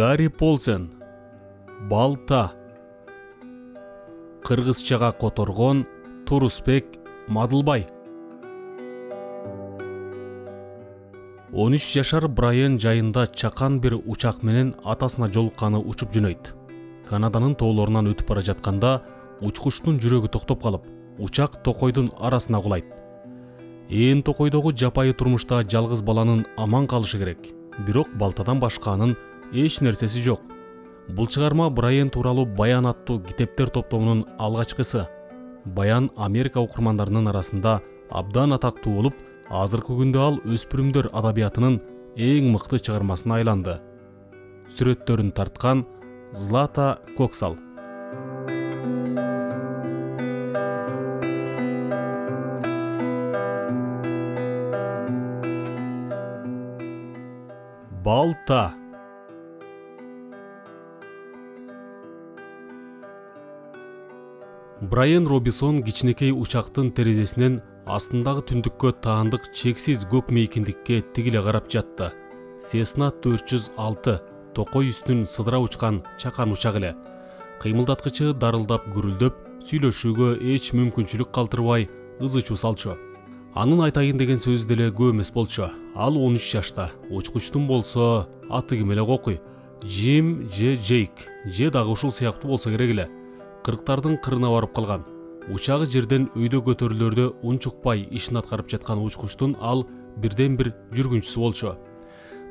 Гарри Полсен. Балта. Кыргызчага которгон Турусбек Мадылбай. 13 жашар Брайан жайында чакан бир учак менен атасына жолукканы учуп жөнөйт. Канаданын тоолорунан өтүп бара жатканда учкучтун жүрөгү токтоп калып, учак токойдун арасына кулайт. Токойдогу жапайы турмушта жалгыз баланын аман калышы керек. Бирок балтадан башка анын эч нерсеси жок. Бул чыгарма Брайан тууралуу Баян аттуу китептер топтомунун алгачкысы. Баян Америка окурмандарынын арасында абдан атактуу болуп, азыркы күндө ал өспүрүмдөр адабиятынын эң мыкты чыгармасына айланды. Сүрөттөрүн тарткан Злата Коксал. Балта. Брайан Робинсон кичинекей учактын терезесинен астындагы түндүккө таандык чексиз көк мейкиндикке тигиле карап жатты. Cessna 406 токой үстүн сыдыра учкан чакан учак эле. Кыймылдаткычы дарылдап гүрүлдөп, сүйлөшүүгө эч мүмкүнчүлүк калтырбай ызы-чуу салчу. Анын айтайын деген сөзү деле көп эмес болчу. Ал 13 жашта. Учкучтун болсо аты ким эле окуй? Джим же Джейк же дагы ушул сыяктуу болсо керек эле. 40тардын кырына барып калган. Учагы жерден өйдө көтөрүлөрдө унчукпай ишин аткарып жаткан учкучтун ал бирден бир жүргүнчүсү болчу.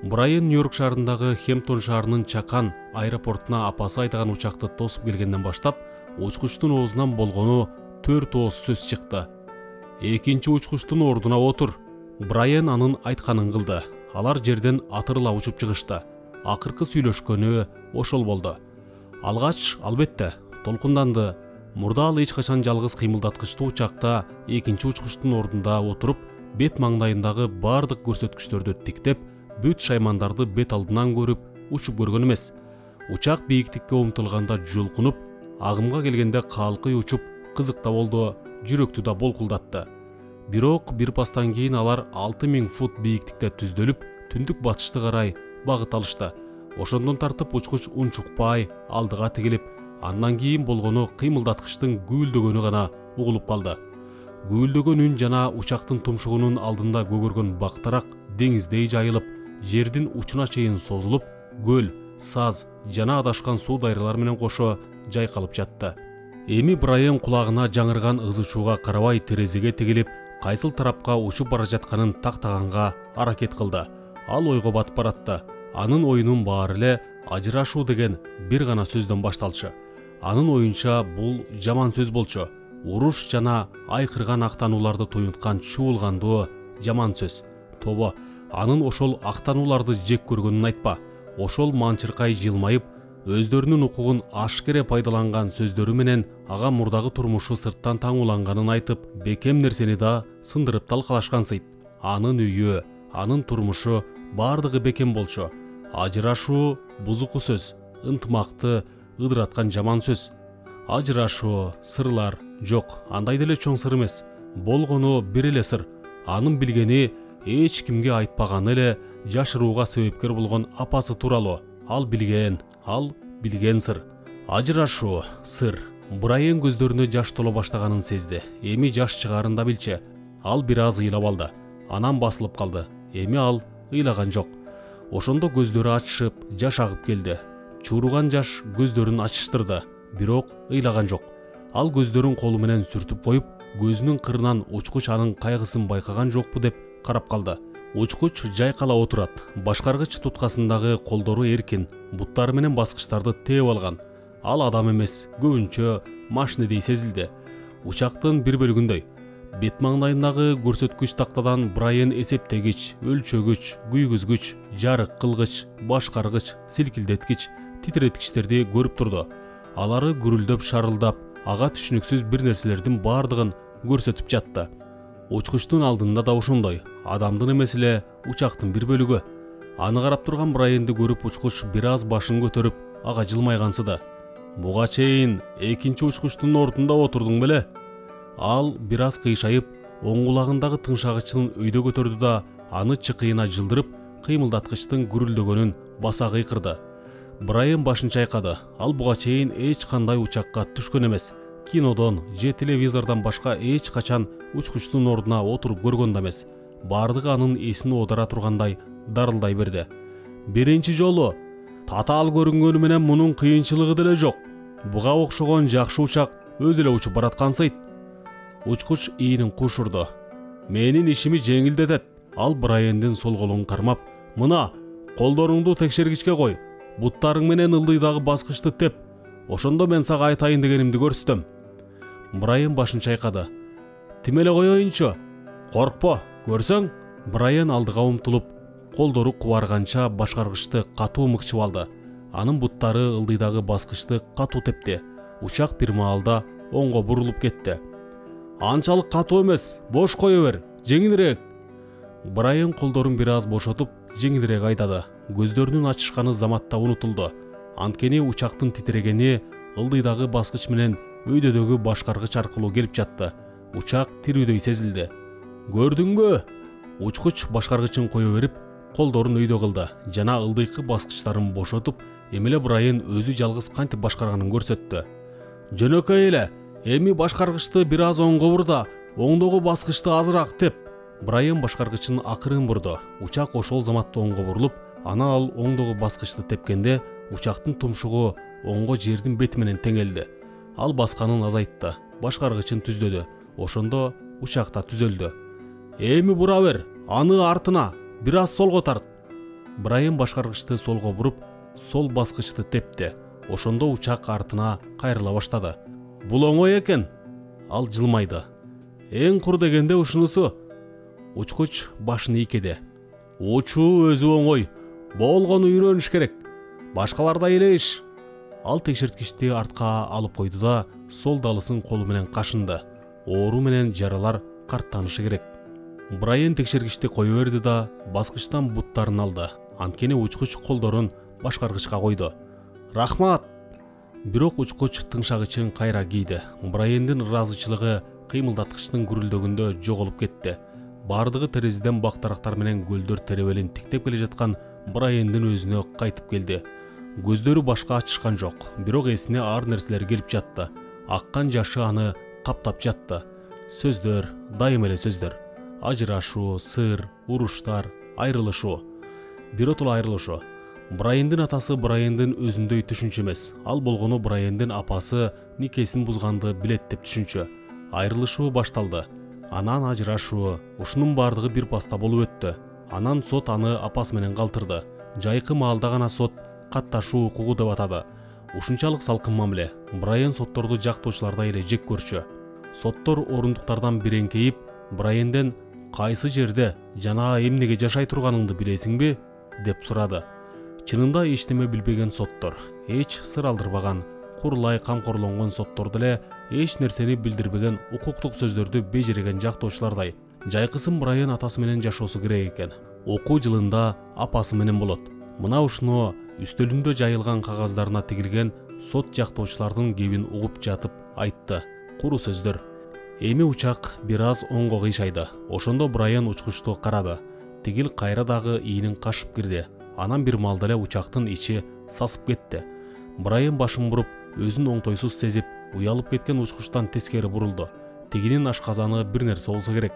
Брайан Нью-Йорк шаарындагы Хэмптон шаарынын чакан аэропортуна апасы айдаган учакты тосуп келгенден баштап, учкучтун оозунан болгону 4 ооз сөз чыкты. Экинчи учкучтун ордуна отур. Брайан анын айтканын кылды. Алар жерден атырыла учуп чыгышты. Акыркы сүйлөшкөнү ошол болду. Алгач, албетте, толкунданды. Мурда ал эч качан жалгыз кыймылдаткычтуу учакта экинчи учкучтун ордунда отуруп, бет маңдайындагы бардык көрсөткүчтөрдү тиктеп, бүт шаймандарды бет алдынан көрүп, учуп көргөн эмес. Учак бийиктикке умтулганда жулкунуп, агымга келгенде калкый учуп, кызыкта болду, жүрөктү да болкулдатты. Бирок бир пастан кийин алар 6000 фут бийиктикте түздөлүп, түндүк батышты карай багыт алышты. Ошондон тартып учкуч унчукпай алдыга тигилип, андан кийин болгону кыймылдаткычтын гүйлдөгөнү гана угулуп калды. Гүйлдөгөн үн жана учактын тумшугунун алдында көгөргөн бактарак деңиздей жайылып, жердин учуна чейин созулуп, көл, саз жана адашкан суу дайралар менен кошо жайкалып жатты. Эми Брайан кулагына жаңырган ызы-чууга карабай терезеге тигилип, кайсыл тарапка учуп бара жатканын тактаганга аракет кылды. Ал ойго батып баратты. Анын оюнун баары эле ажырашуу деген бир гана сөздөн башталчу. Анын оюнча бул жаман сөз болчу. Уруш жана айкырган актанууларды туюнткан чуулгандуу жаман сөз. Тобо, анын ошол актанууларды жек көргөнүн айтпа. Ошол манчыркай жылмайып, өздөрүнүн укугун ашкере пайдаланган сөздөрү менен ага мурдагы турмушу сырттан таңууланганын айтып, бекем нерсени да сындырып талкалашкансыйт. Анын үйү, анын турмушу бардыгы бекем болчу. Ажырашуу бузуку сөз, ынтымакты ыдыраткан жаман сөз. Ажырашуу, сырлар жок, андай деле чоң сыр эмес. Болгону бир эле сыр. Анын билгени эч кимге айтпаганы эле жашырууга себепкер болгон апасы тууралуу. Ал билген сыр. Ажырашуу, сыр. Брайан көздөрүнө жаш толо баштаганын сезди. Эми жаш чыгарын да билчү. Ал бир аз ыйлап алды. Анан басылып калды. Эми ал ыйлаган жок. Ошондо көздөрү ачышып, жаш агып келди. Чууруган жаш көздөрүн ачыштырды. Бирок ыйлаган жок. Ал көздөрүн колу менен сүртүп коюп, көзүнүн кырынан учкуч анын кайгысын байкаган жокпу деп карап калды. Учкуч жайкала отурат. Башкаргыч туткасындагы колдору эркин, буттары менен баскычтарды тээп алган. Ал адам эмес, көбүнчө машинедей сезилди. Учактын бир бөлүгүндөй. Бет маңдайындагы көрсөткүч тактадан Брайан эсептегич, өлчөгүч, күйгүзгүч, жарык кылгыч, башкаргыч, силкилдеткич, титиреткичтерди көрүп турду. Алары гүрүлдөп шарылдап, ага түшүнүксүз бир нерселердин бардыгын көрсөтүп жатты. Учкучтун алдында да ошондой, адамдын эмес эле учактын бир бөлүгү. Аны карап турган Брайанды көрүп учкуч бир аз башын көтөрүп, ага жылмайгансыды. Буга чейин экинчи учкучтун ордунда отурдуң беле? Ал бир аз кыйшайып, оң кулагындагы тыңшагычын өйдө көтөрдү да аны чыкыйына жылдырып, кыймылдаткычтын гүрүлдөгөнүн баса кыйкырды. Брайан башын чайкады. Ал буга чейин эч кандай учакка түшкөн эмес. Кинодон же телевизордон башка эч качан учкучтун ордуна отуруп көргөн да эмес. Бардыгы анын эсин оодара тургандай дарылдай берди. Биринчи жолу татаал көрүнгөнү менен мунун кыйынчылыгы деле жок. Буга окшогон жакшы учак өзү эле учуп бараткансыйт. Учкуч ийинин кушурду. Менин ишими жеңилдетет. Ал Брайандын сол колун кармап, мына колдоруңду текшергичке кой. Буттарың менен ылдыйдагы баскычты теп. Ошондо мен сага айтайын дегенимди көрсөтөм. Брайан башын чайкады. Тимеле коеюнчу. Коркпо, көрсөң? Брайан алдыга умтулуп, колдору кубарганча башкаргычты катуу мыкчып алды. Анын буттары ылдыйдагы баскычты катуу тепти. Учак бир маалда оңго бурулуп кетти. Анчалык катуу эмес, бош кое бер, жеңилирээк. Брайан колдорун бир аз бошотуп, жеңилирээк айдады. Көздөрүнүн ачышканы заматта унутулду. Анткени учактын титирегени ылдыйдагы баскыч менен өйдөдөгү башкаргыч аркылуу келип жатты. Учак тирүүдөй сезилди. Көрдүңбү? Учкуч башкаргычын кое берип, колдорун өйдө кылды жана ылдыйкы баскычтарын бошотуп, эмеле Брайан өзү жалгыз кантип башкарганын көрсөттү. Жөнөкөй эле, эми башкаргычты бир аз оңго бур да, оңдогу баскычты азыраак теп. Брайан башкаргычын акырын бурду. Учак ошол заматта оңго бурулуп, анан ал оңдогу баскычты тепкенде учактын тумшугу оңго жердин бети менен теңелди. Ал басканын азайтты, башкаргычын түздөдү. Ошондо учак да түзөлдү. Эми бура бер, аны артына, бир аз солго тарт. Брайан башкаргычты солго буруп, сол баскычты тепти. Ошондо учак артына кайрыла баштады. Бул оңой экен. Ал жылмайды. Эң кур дегенде ушунусу. Учкуч башын ийкеди. Учуу өзү оңой. Болгону үйрөнүш керек. Башкаларда эле иш. Ал текшерткичти артка алып койду да, сол далысын колу менен кашынды. Оору менен жаралар карттанышы керек. Брайан текшергичти кое берди да, баскычтан буттарын алды. Анткени учкуч колдорун башкаргычка койду. Рахмат. Бирок учкуч тыңшагычын кайра кийди. Брайандын ыраазычылыгы кыймылдаткычтын гүрүлдөгүндө жоголуп кетти. Бардыгы терезеден бактарактар менен көлдөр теребелин тиктеп келе жаткан Брайандын өзүнө кайтып келди. Көздөрү башка ачышкан жок, бирок эсине ар нерселер келип жатты. Аккан жашы аны каптап жатты. Сөздөр, дайым эле сөздөр. Ажырашуу, сыр, уруштар, айрылышуу. Биротула айрылышуу. Брайандын атасы Брайандын өзүндөй түшүнчү эмес. Ал болгону Брайандын апасы никесин бузганды билет деп түшүнчү. Айрылышуу башталды. Анан ажырашуу, ушунун бардыгы бир паста болуп өттү. Анан сот аны апасы менен калтырды. Жайкы маалда гана сот катташуу укугу деп атады. Ушунчалык салкын мамиле. Брайан сотторду жактоочулардай эле жек көрчү. Соттор орундуктардан биреңкейип, Брайанден кайсы жерде жана эмнеге жашай турганыңды билесиңби деп сурады. Чынында эчтеме билбеген соттор, эч сыр алдырбаган, курулай камкорлонгон соттор деле эч нерсени билдирбеген укуктук сөздөрдү бежиреген жактоочулардай. Жайкысын Брайан атасы менен жашоосу керек экен. Окуу жылында апасы менен болот. Мына ушуну үстөлүндө жайылган кагаздарына тигилген сот жактоочулардын кебин угуп жатып айтты. Куру сөздөр. Эми учак бир аз оңго кыйшайды. Ошондо Брайан учкучту карады. Тигил кайра дагы ийинин кашып кирди. Анан бир маалда эле учактын ичи сасып кетти. Брайан башын буруп, өзүн оңтойсуз сезип, уялып кеткен учкучтан тескери бурулду. Тигинин ашказаны бир нерсе болсо керек.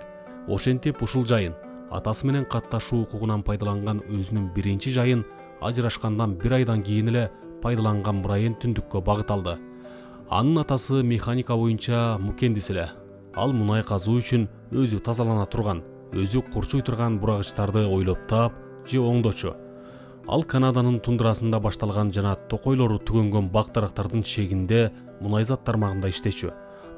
Ошентип ушул жайын, атасы менен катташуу укугунан пайдаланган өзүнүн биринчи жайын ажырашкандан бир айдан кийин эле пайдаланган Брайан түндүккө багыт алды. Анын атасы механика боюнча мукендис эле. Ал мунай казуу үчүн өзү тазалана турган, өзү курчуй турган бурагычтарды ойлоп таап же оңдочу. Ал Канаданын тундрасында башталган жана токойлору түгөнгөн бак-дарактардын чегинде мунайзат тармагында иштечү.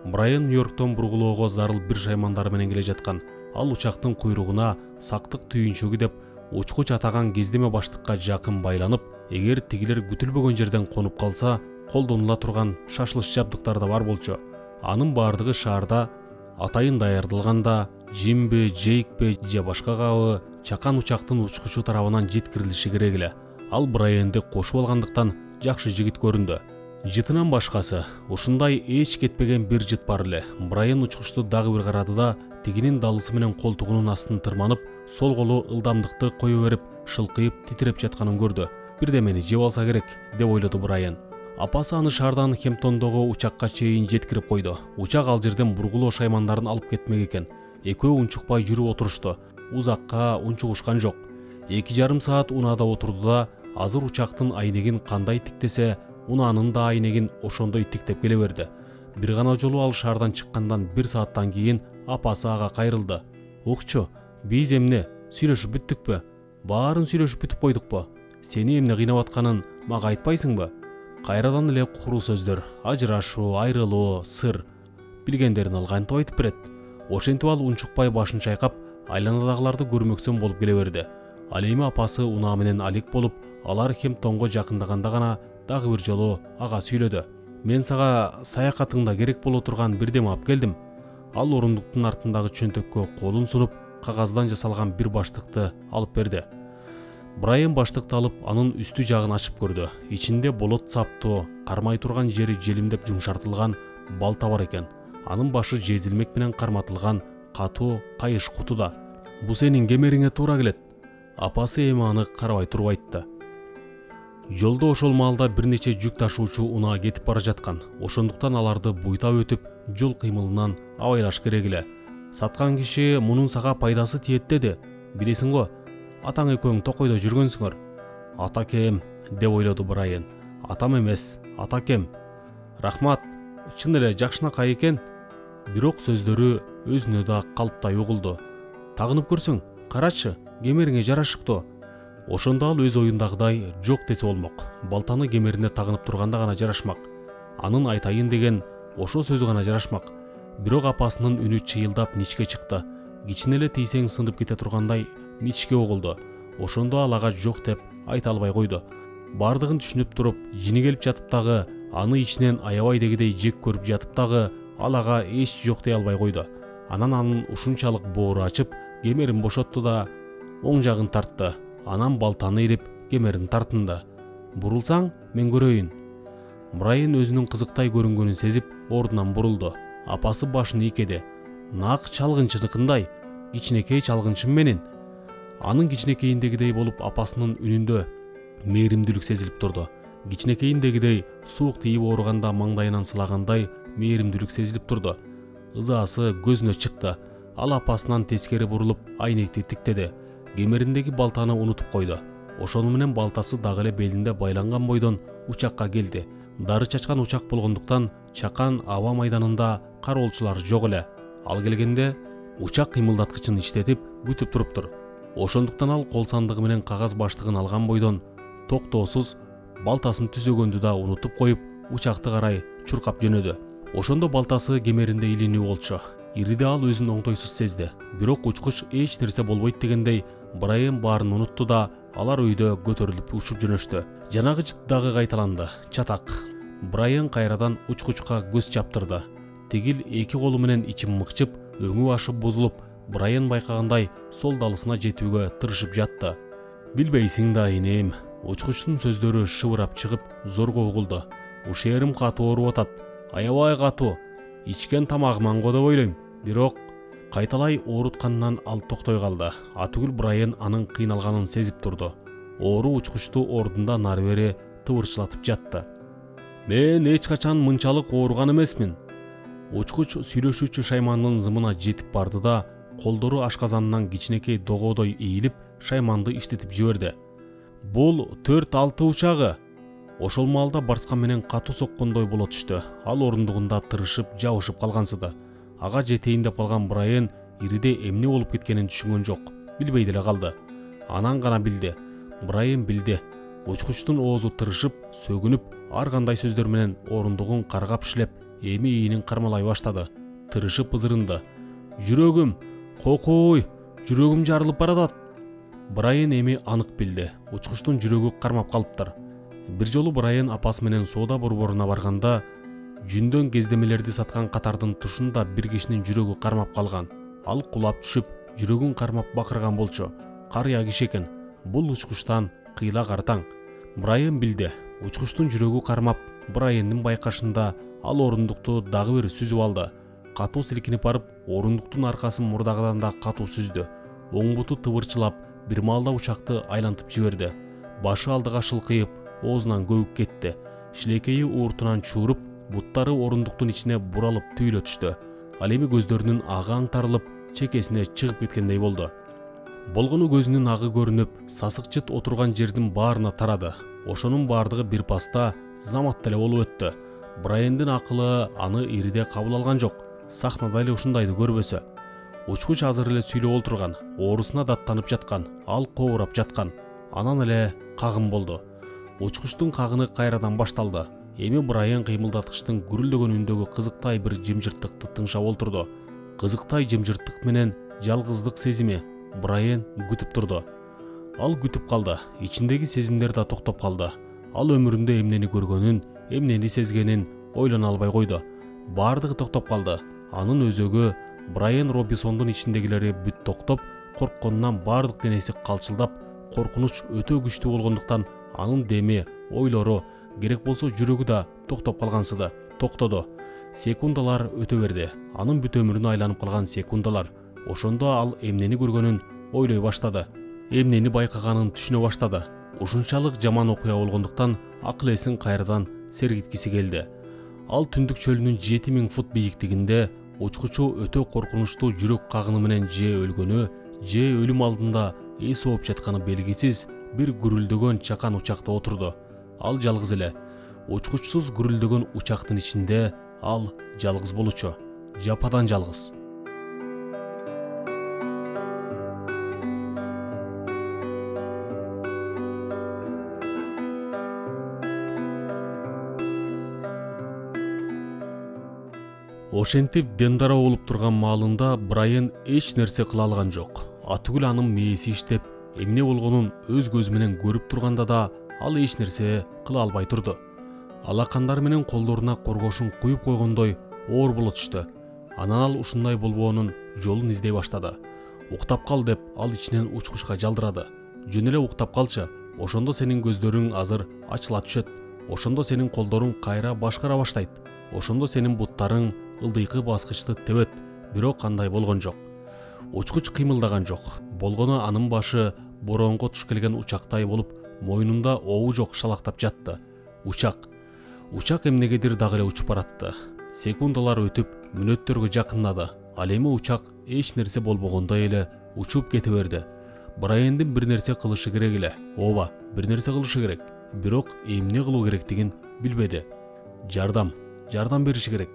Брайан Нью-Йорктон бургулоого зарыл бир шаймандары менен келе жаткан. Ал учактын куйругуна сактык түйүнчөгү деп учкуч атаган кездеме баштыкка жакын байланып, эгер тигилер күтүлбөгөн жерден конуп калса, колдонула турган шашылыш жабдыктар да бар болчу. Анын бардыгы шаарда атайын даярдалганда, жимби, жейикпи же башка кабы чакан учактын учкучу тарабынан жеткирилиши керек эле. Ал Брайанды кошуп алгандыктан жакшы жигит көрүндү. Жытынан башкасы, ушундай эч кетпеген бир жыт бар эле. Брайан учкучту дагы бир карады да, тигинин далысы менен колтугунун астын тырманып, сол колу ылдамдыкты кое берип, шылкыйып титиреп жатканын көрдү. бирдемени жеп алса керек деп ойлоду Брайан. Апасы аны шаардан Хэмптондогу учакка чейин жеткирип койду. Учак ал жерден бургулоо шаймандарын алып кетмек экен. Экөө унчукпай жүрүп отурушту. Узакка унчугушкан жок. 2,5 саат унаада отурду да азыр учактын айнегин кандай тиктесе, унаанын да айнегин ошондой тиктеп келе берди. Бир гана жолу ал шаардан чыккандан 1 сааттан кийин апасы ага кайрылды. Укчу, биз эмне сүйлөшүп бүттүкпү? Баарын сүйлөшүп бүтүп койдукпу? Сени эмне кыйнап атканын мага айтпайсыңбы? Кайрадан эле куруу сөздөр, ажырашуу, айрылуу, сыр. Билгендерин ал кантип айтып берет? Ошентип ал унчукпай башын чайкап, айланадагыларды көрмөксөн болуп келе берди. Ал эми апасы унаа менен алек болуп, алар Хэмптонго жакындаганда гана дагы бир жолу ага сүйлөдү. Мен сага саякатыңда керек боло турган бирдеме алып келдим. Ал орундуктун артындагы чөнтөккө колун сунуп, кагаздан жасалган бир баштыкты алып берди. Брайан баштыкты алып, анын үстү жагын ачып көрдү. Ичинде болот саптуу, кармай турган жери желимдеп жумшартылган балта бар экен. Анын башы жезилмек менен карматылган катуу кайыш кутуда. Бу сенин кемериңе туура келет. Апасы эми аны карабай туруп айтты. Жолдо ошол маалда бир нече жүк ташуучу унаа кетип бара жаткан. Ошондуктан аларды буйтап өтүп, жол кыймылынан абайлаш керек эле. Саткан киши мунун сага пайдасы тиет деди. Билесиң го, атаң экөөң токойдо жүргөнсүңөр. Атакем, деп ойлоду Брайан. Атам эмес, атакем. Рахмат, чын эле жакшынакай экен. Бирок сөздөрү өзүнө да калптай угулду. Тагынып көрсөң, карачы, кемериңе жарашыптуу. Ошондо ал өз оюндагыдай жок десе болмок. Балтаны кемерине тагынып турганда гана жарашмак. Анын айтайын деген ошо сөзү гана жарашмак. Бирок апасынын үнү чыйылдап ничке чыкты. Кичине эле тийсең сынып кете тургандай ничке угулду. Ошондо ал ага жок деп айта албай койду. Бардыгын түшүнүп туруп, жини келип жатып дагы, аны ичинен аябай дегидей жек көрүп жатып дагы, ал ага эч жок дей албай койду. Анан анын ушунчалык боору ачып, кемерин бошотту да оң жагын тартты. Анан балтаны ирип, кемерин тартынды. Бурулсаң, мен көрөйүн. Брайан өзүнүн кызыктай көрүнгөнүн сезип, ордунан бурулду. Апасы башын ийкеди. Нак чалгынчыныкындай, кичинекей чалгынчым менен. Анын кичинекейиндегидей болуп, апасынын үнүндө мээримдүүлүк сезилип турду. Кичинекейиндегидей суук тийип ооруганда маңдайынан сылагандай мээримдүүлүк сезилип турду. Ызаасы көзүнө чыкты. Ал апасынан тескери бурулуп, айнекти тиктеди. Кемериндеги балтаны унутуп койду. Ошону менен балтасы дагы эле белинде байланган бойдон учакка келди. Дары чачкан учак болгондуктан чакан аба майданында кароолчулар жок эле. Ал келгенде учак кыймылдаткычын иштетип күтүп туруптур. Ошондуктан ал кол сандыгы менен кагаз баштыгын алган бойдон токтоосуз балтасын түзөгөндү да унутуп коюп, учакты карай чуркап жөнөдү. Ошондо балтасы кемеринде илинүү болчу. Ириде ал өзүн оңтойсуз сезди. Бирок учкуч эч нерсе болбойт дегендей, Брайан баарын унутту да, алар өйдө көтөрүлүп учуп жөнөштү. Жанагы жыт дагы кайталанды. Чатак. Брайан кайрадан учкучка көз чаптырды. Тигил эки колу менен ичин мыкчып, өңү башы бузулуп, Брайан байкагандай сол далысына жетүүгө тырышып жатты. Билбейсиң да, инем. Учкучтун сөздөрү шыбырап чыгып, зорго угулду. Ушерим катуу ооруп атат. Аябай катуу. Ичкен тамагым аңго деп ойлойм. Бирок кайталай оорутканынан ал токтой калды. Атүгүл Брайан анын кыйналганын сезип турду. Оору учкучту ордунда нары бери тыбырчылатып жатты. Мен эч качан мынчалык ооруган эмесмин. Учкуч сүйлөшүүчү шаймандын зымына жетип барды да, колдору ашказанынан кичинекей догодой ийилип, шайманды иштетип жиберди. Бул 4-6 учагы. Ошол маалда барскан менен катуу соккондой боло түштү. Ал орундугунда тырышып, жабышып калгансыды. Ага жетейин деп калган Брайан ириде эмне болуп кеткенин түшүнгөн жок. Билбей деле калды. Анан гана билди. Брайан билди. Учкучтун оозу тырышып, сөгүнүп, ар кандай сөздөр менен орундугун каргап-шилеп, эми ийинин кармалай баштады. Тырышып ызырынды. Жүрөгүм, кокой, жүрөгүм жарылып баратат. Брайан эми анык билди. Учкучтун жүрөгү кармап калыптыр. Бир жолу Брайан апасы менен соода борборуна барганда, жүндөн кездемелерди саткан катардын тушунда бир кишинин жүрөгү кармап калган. Ал кулап түшүп, жүрөгүн кармап бакырган болчу. Карыя киши экен. Бул учкучтан кыйла картаң. Брайан билди. Учкучтун жүрөгү кармап, Брайандын байкашында ал орундукту дагы бир сүзүп алды. Катуу силкинип барып, орундуктун аркасын мурдагыдан да катуу сүздү. Оң буту тыбырчылап, бир маалда учакты айлантып жиберди. башы алдыга шылкыйып, оозунан көбүк кетти. Шилекейи ууртунан чууруп, буттары орундуктун ичине буралып түйүлө түштү. Ал эми көздөрүнүн агы аңтарылып, чекесине чыгып кеткендей болду. Болгону көзүнүн агы көрүнүп, сасык жыт отурган жердин баарына тарады. Ошонун баардыгы бир паста замат эле болуп өттү. Брайандын акылы аны ириде кабыл алган жок. Сахнада эле ушундайды көрбөсө. Учкуч азыр эле сүйлөп олтурган, оорусуна даттанып жаткан, ал коорап жаткан. Анан эле кагым болду. Учкучтун кагыны кайрадан башталды. Эми Брайан кыймылдаткычтын гүрүлдөгөн үндөгү кызыктай бир жымжырттыкты тыңшап олтурду. Кызыктай жымжырттык менен жалгыздык сезими Брайан күтүп турду. Ал күтүп калды. Ичиндеги сезимдер да токтоп калды. Ал өмүрүндө эмнени көргөнүн, эмнени сезгенин ойлоно албай койду. Баардыгы токтоп калды. Анын өзөгү, Брайан Робинсондун ичиндегилери бүт токтоп, коркконунан баардык денеси калчылдап, коркунуч өтө күчтүү болгондуктан анын деми, ойлору, керек болсо жүрөгү да токтоп калгансыды. Токтоду. Секундалар өтө берди. Анын бүт өмүрүнө айланып калган секундалар. Ошондо ал эмнени көргөнүн ойлой баштады. Эмнени байкаганын түшүнө баштады. Ушунчалык жаман окуя болгондуктан акыл эсин кайрадан сергиткиси келди. Ал түндүк чөлүнүн 7000 фут бийиктигинде учкучу өтө коркунучтуу жүрөк кагыны менен же өлгөнү, же өлүм алдында эс ооп жатканы белгисиз бир гүрүлдөгөн чакан учакта отурду. Ал жалгыз эле. Учкучсуз гүрүлдөгөн учактын ичинде ал жалгыз болчу. Жападан жалгыз. Ошентип дендара болуп турган маалында Брайан эч нерсе кыла алган жок. Атүгүл анын мээси иштеп, эмне болгонун өз көзү менен көрүп турганда да ал эч нерсе кыла албай турду. Алакандары менен колдоруна коргошун куюп койгондой оор боло түштү. Анан ал ушундай болбоонун жолун издей баштады. Уктап кал деп ал ичинен учкучка жалдырады. Жөн эле уктап калчы, ошондо сенин көздөрүң азыр ачыла түшөт. Ошондо сенин колдоруң кайра башкара баштайт. Ошондо сенин буттарың ылдыйкы баскычты тебет. Бирок кандай болгон жок. Учкуч кыймылдаган жок. Болгону анын башы боронго туш келген учактай болуп, мойнунда обу жок шалактап жатты. Учак эмнегедир дагы эле учуп баратты. Секундалар өтүп, мүнөттөргө жакындады. Ал эми учак эч нерсе болбогондой эле учуп кете берди. Брайандын бир нерсе кылышы керек эле. Ооба, бир нерсе кылышы керек. Бирок эмне кылуу керектигин билбеди. Жардам бериши керек.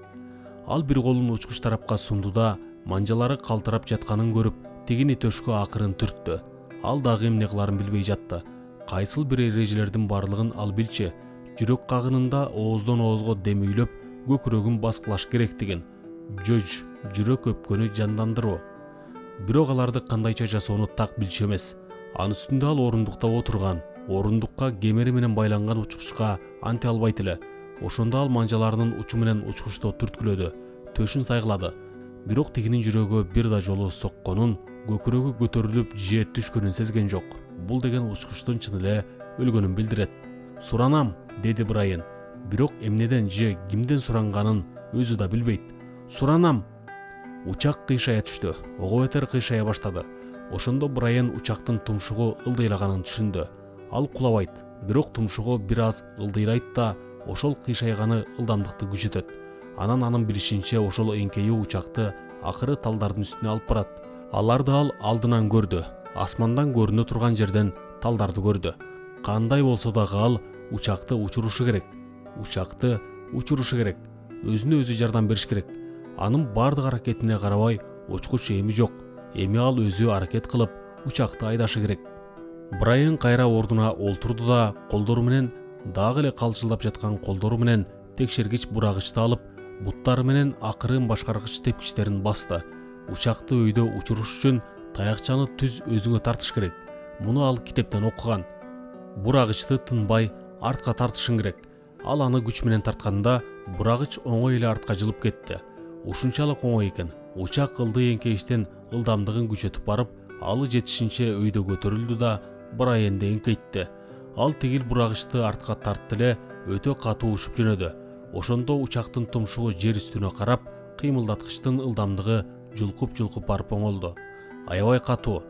Ал бир колун учкуч тарапка сунду да, манжалары калтырап жатканын көрүп, тигини төшкө акырын түрттү. Ал дагы эмне кыларын билбей жатты. Кайсыл бир эрежелердин барлыгын ал билчи. Жүрөк кагынында ооздон оозго демүйлөп, көкүрөгүн баскылаш керектигин. Жүрөк өпкөнү жандандыруу. Бирок аларды кандайча жасоону так билчү эмес. Анын үстүндө ал орундукта отурган. Орундукка кемери менен байланган учкучка анте албайт эле. Ошондо ал манжаларынын учу менен учкучту түрткүлөдү. Төшүн сайгылады. Бирок тигинин жүрөгү бир да жолу сокконун, көкүрөгү көтөрүлүп же түшкөнүн сезген жок. Бул деген учкучтун чын эле өлгөнүн билдирет. Суранам, деди Брайан. Бирок эмнеден же кимден суранганын өзү да билбейт. Суранам. Учак кыйшая түштү. Ого бетер кыйшая баштады. Ошондо Брайан учактын тумшугу ылдыйлаганын түшүндү. Ал кулабайт, бирок тумшугу бир аз ылдыйрайт да, ошол кыйшайганы ылдамдыкты күчөтөт. Анан анын билишинче ошол эңкейүү учакты акыры талдардын үстүнө алып барат. Аларды ал алдынан көрдү. Асмандан көрүнө турган жерден талдарды көрдү. Кандай болсо дагы ал учакты учурушу керек. Өзүнө өзү жардам бериш керек. Анын бардык аракетине карабай, учкуч эми жок. Эми ал өзү аракет кылып, учакты айдашы керек. Брайан кайра ордуна олтурду да, колдору менен, дагы эле калчылдап жаткан колдору менен текшергич бурагычты алып, буттары менен акырын башкаргыч тепкичтерин басты. Учакты өйдө учуруш үчүн таякчаны түз өзүңө тартыш керек. Муну ал китептен окуган. Бурагычты тынбай артка тартышың керек. Ал аны күч менен тартканда, бурагыч оңой эле артка жылып кетти. Ушунчалык оңой экен. Учак ылдый эңкейиштен ылдамдыгын күчөтүп барып, алы жетишинче өйдө көтөрүлдү да, Брайанды эңкейтти. Ал тигил бурагычты артка тартты эле, өтө катуу учуп жөнөдү. Ошондо учактын тумшугу жер үстүнө карап, кыймылдаткычтын ылдамдыгы жулкуп барып оңолду. Аябай катуу.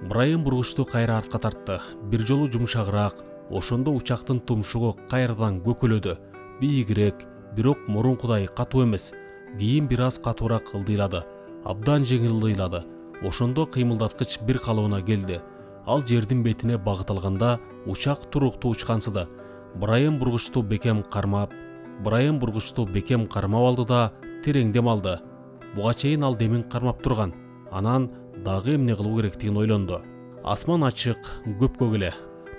Брайан бургучту кайра артка тартты. Бир жолу жумшагыраак, ошондо учактын тумшугу кайрадан көкөлөдү. Бийигирээк, бирок мурункудай катуу эмес. Кийин бир аз катуураак ылдыйлады. Абдан жеңил ылдыйлады. Ошондо кыймылдаткыч бир калыбына келди. Ал жердин бетине багыт алганда учак туруктуу учкансыды. Брайан бургучту бекем кармап алды да терең дем алды. Буга чейин ал демин кармап турган. Анан дагы эмне кылуу керектигин ойлонду. Асман ачык, көпкөк эле.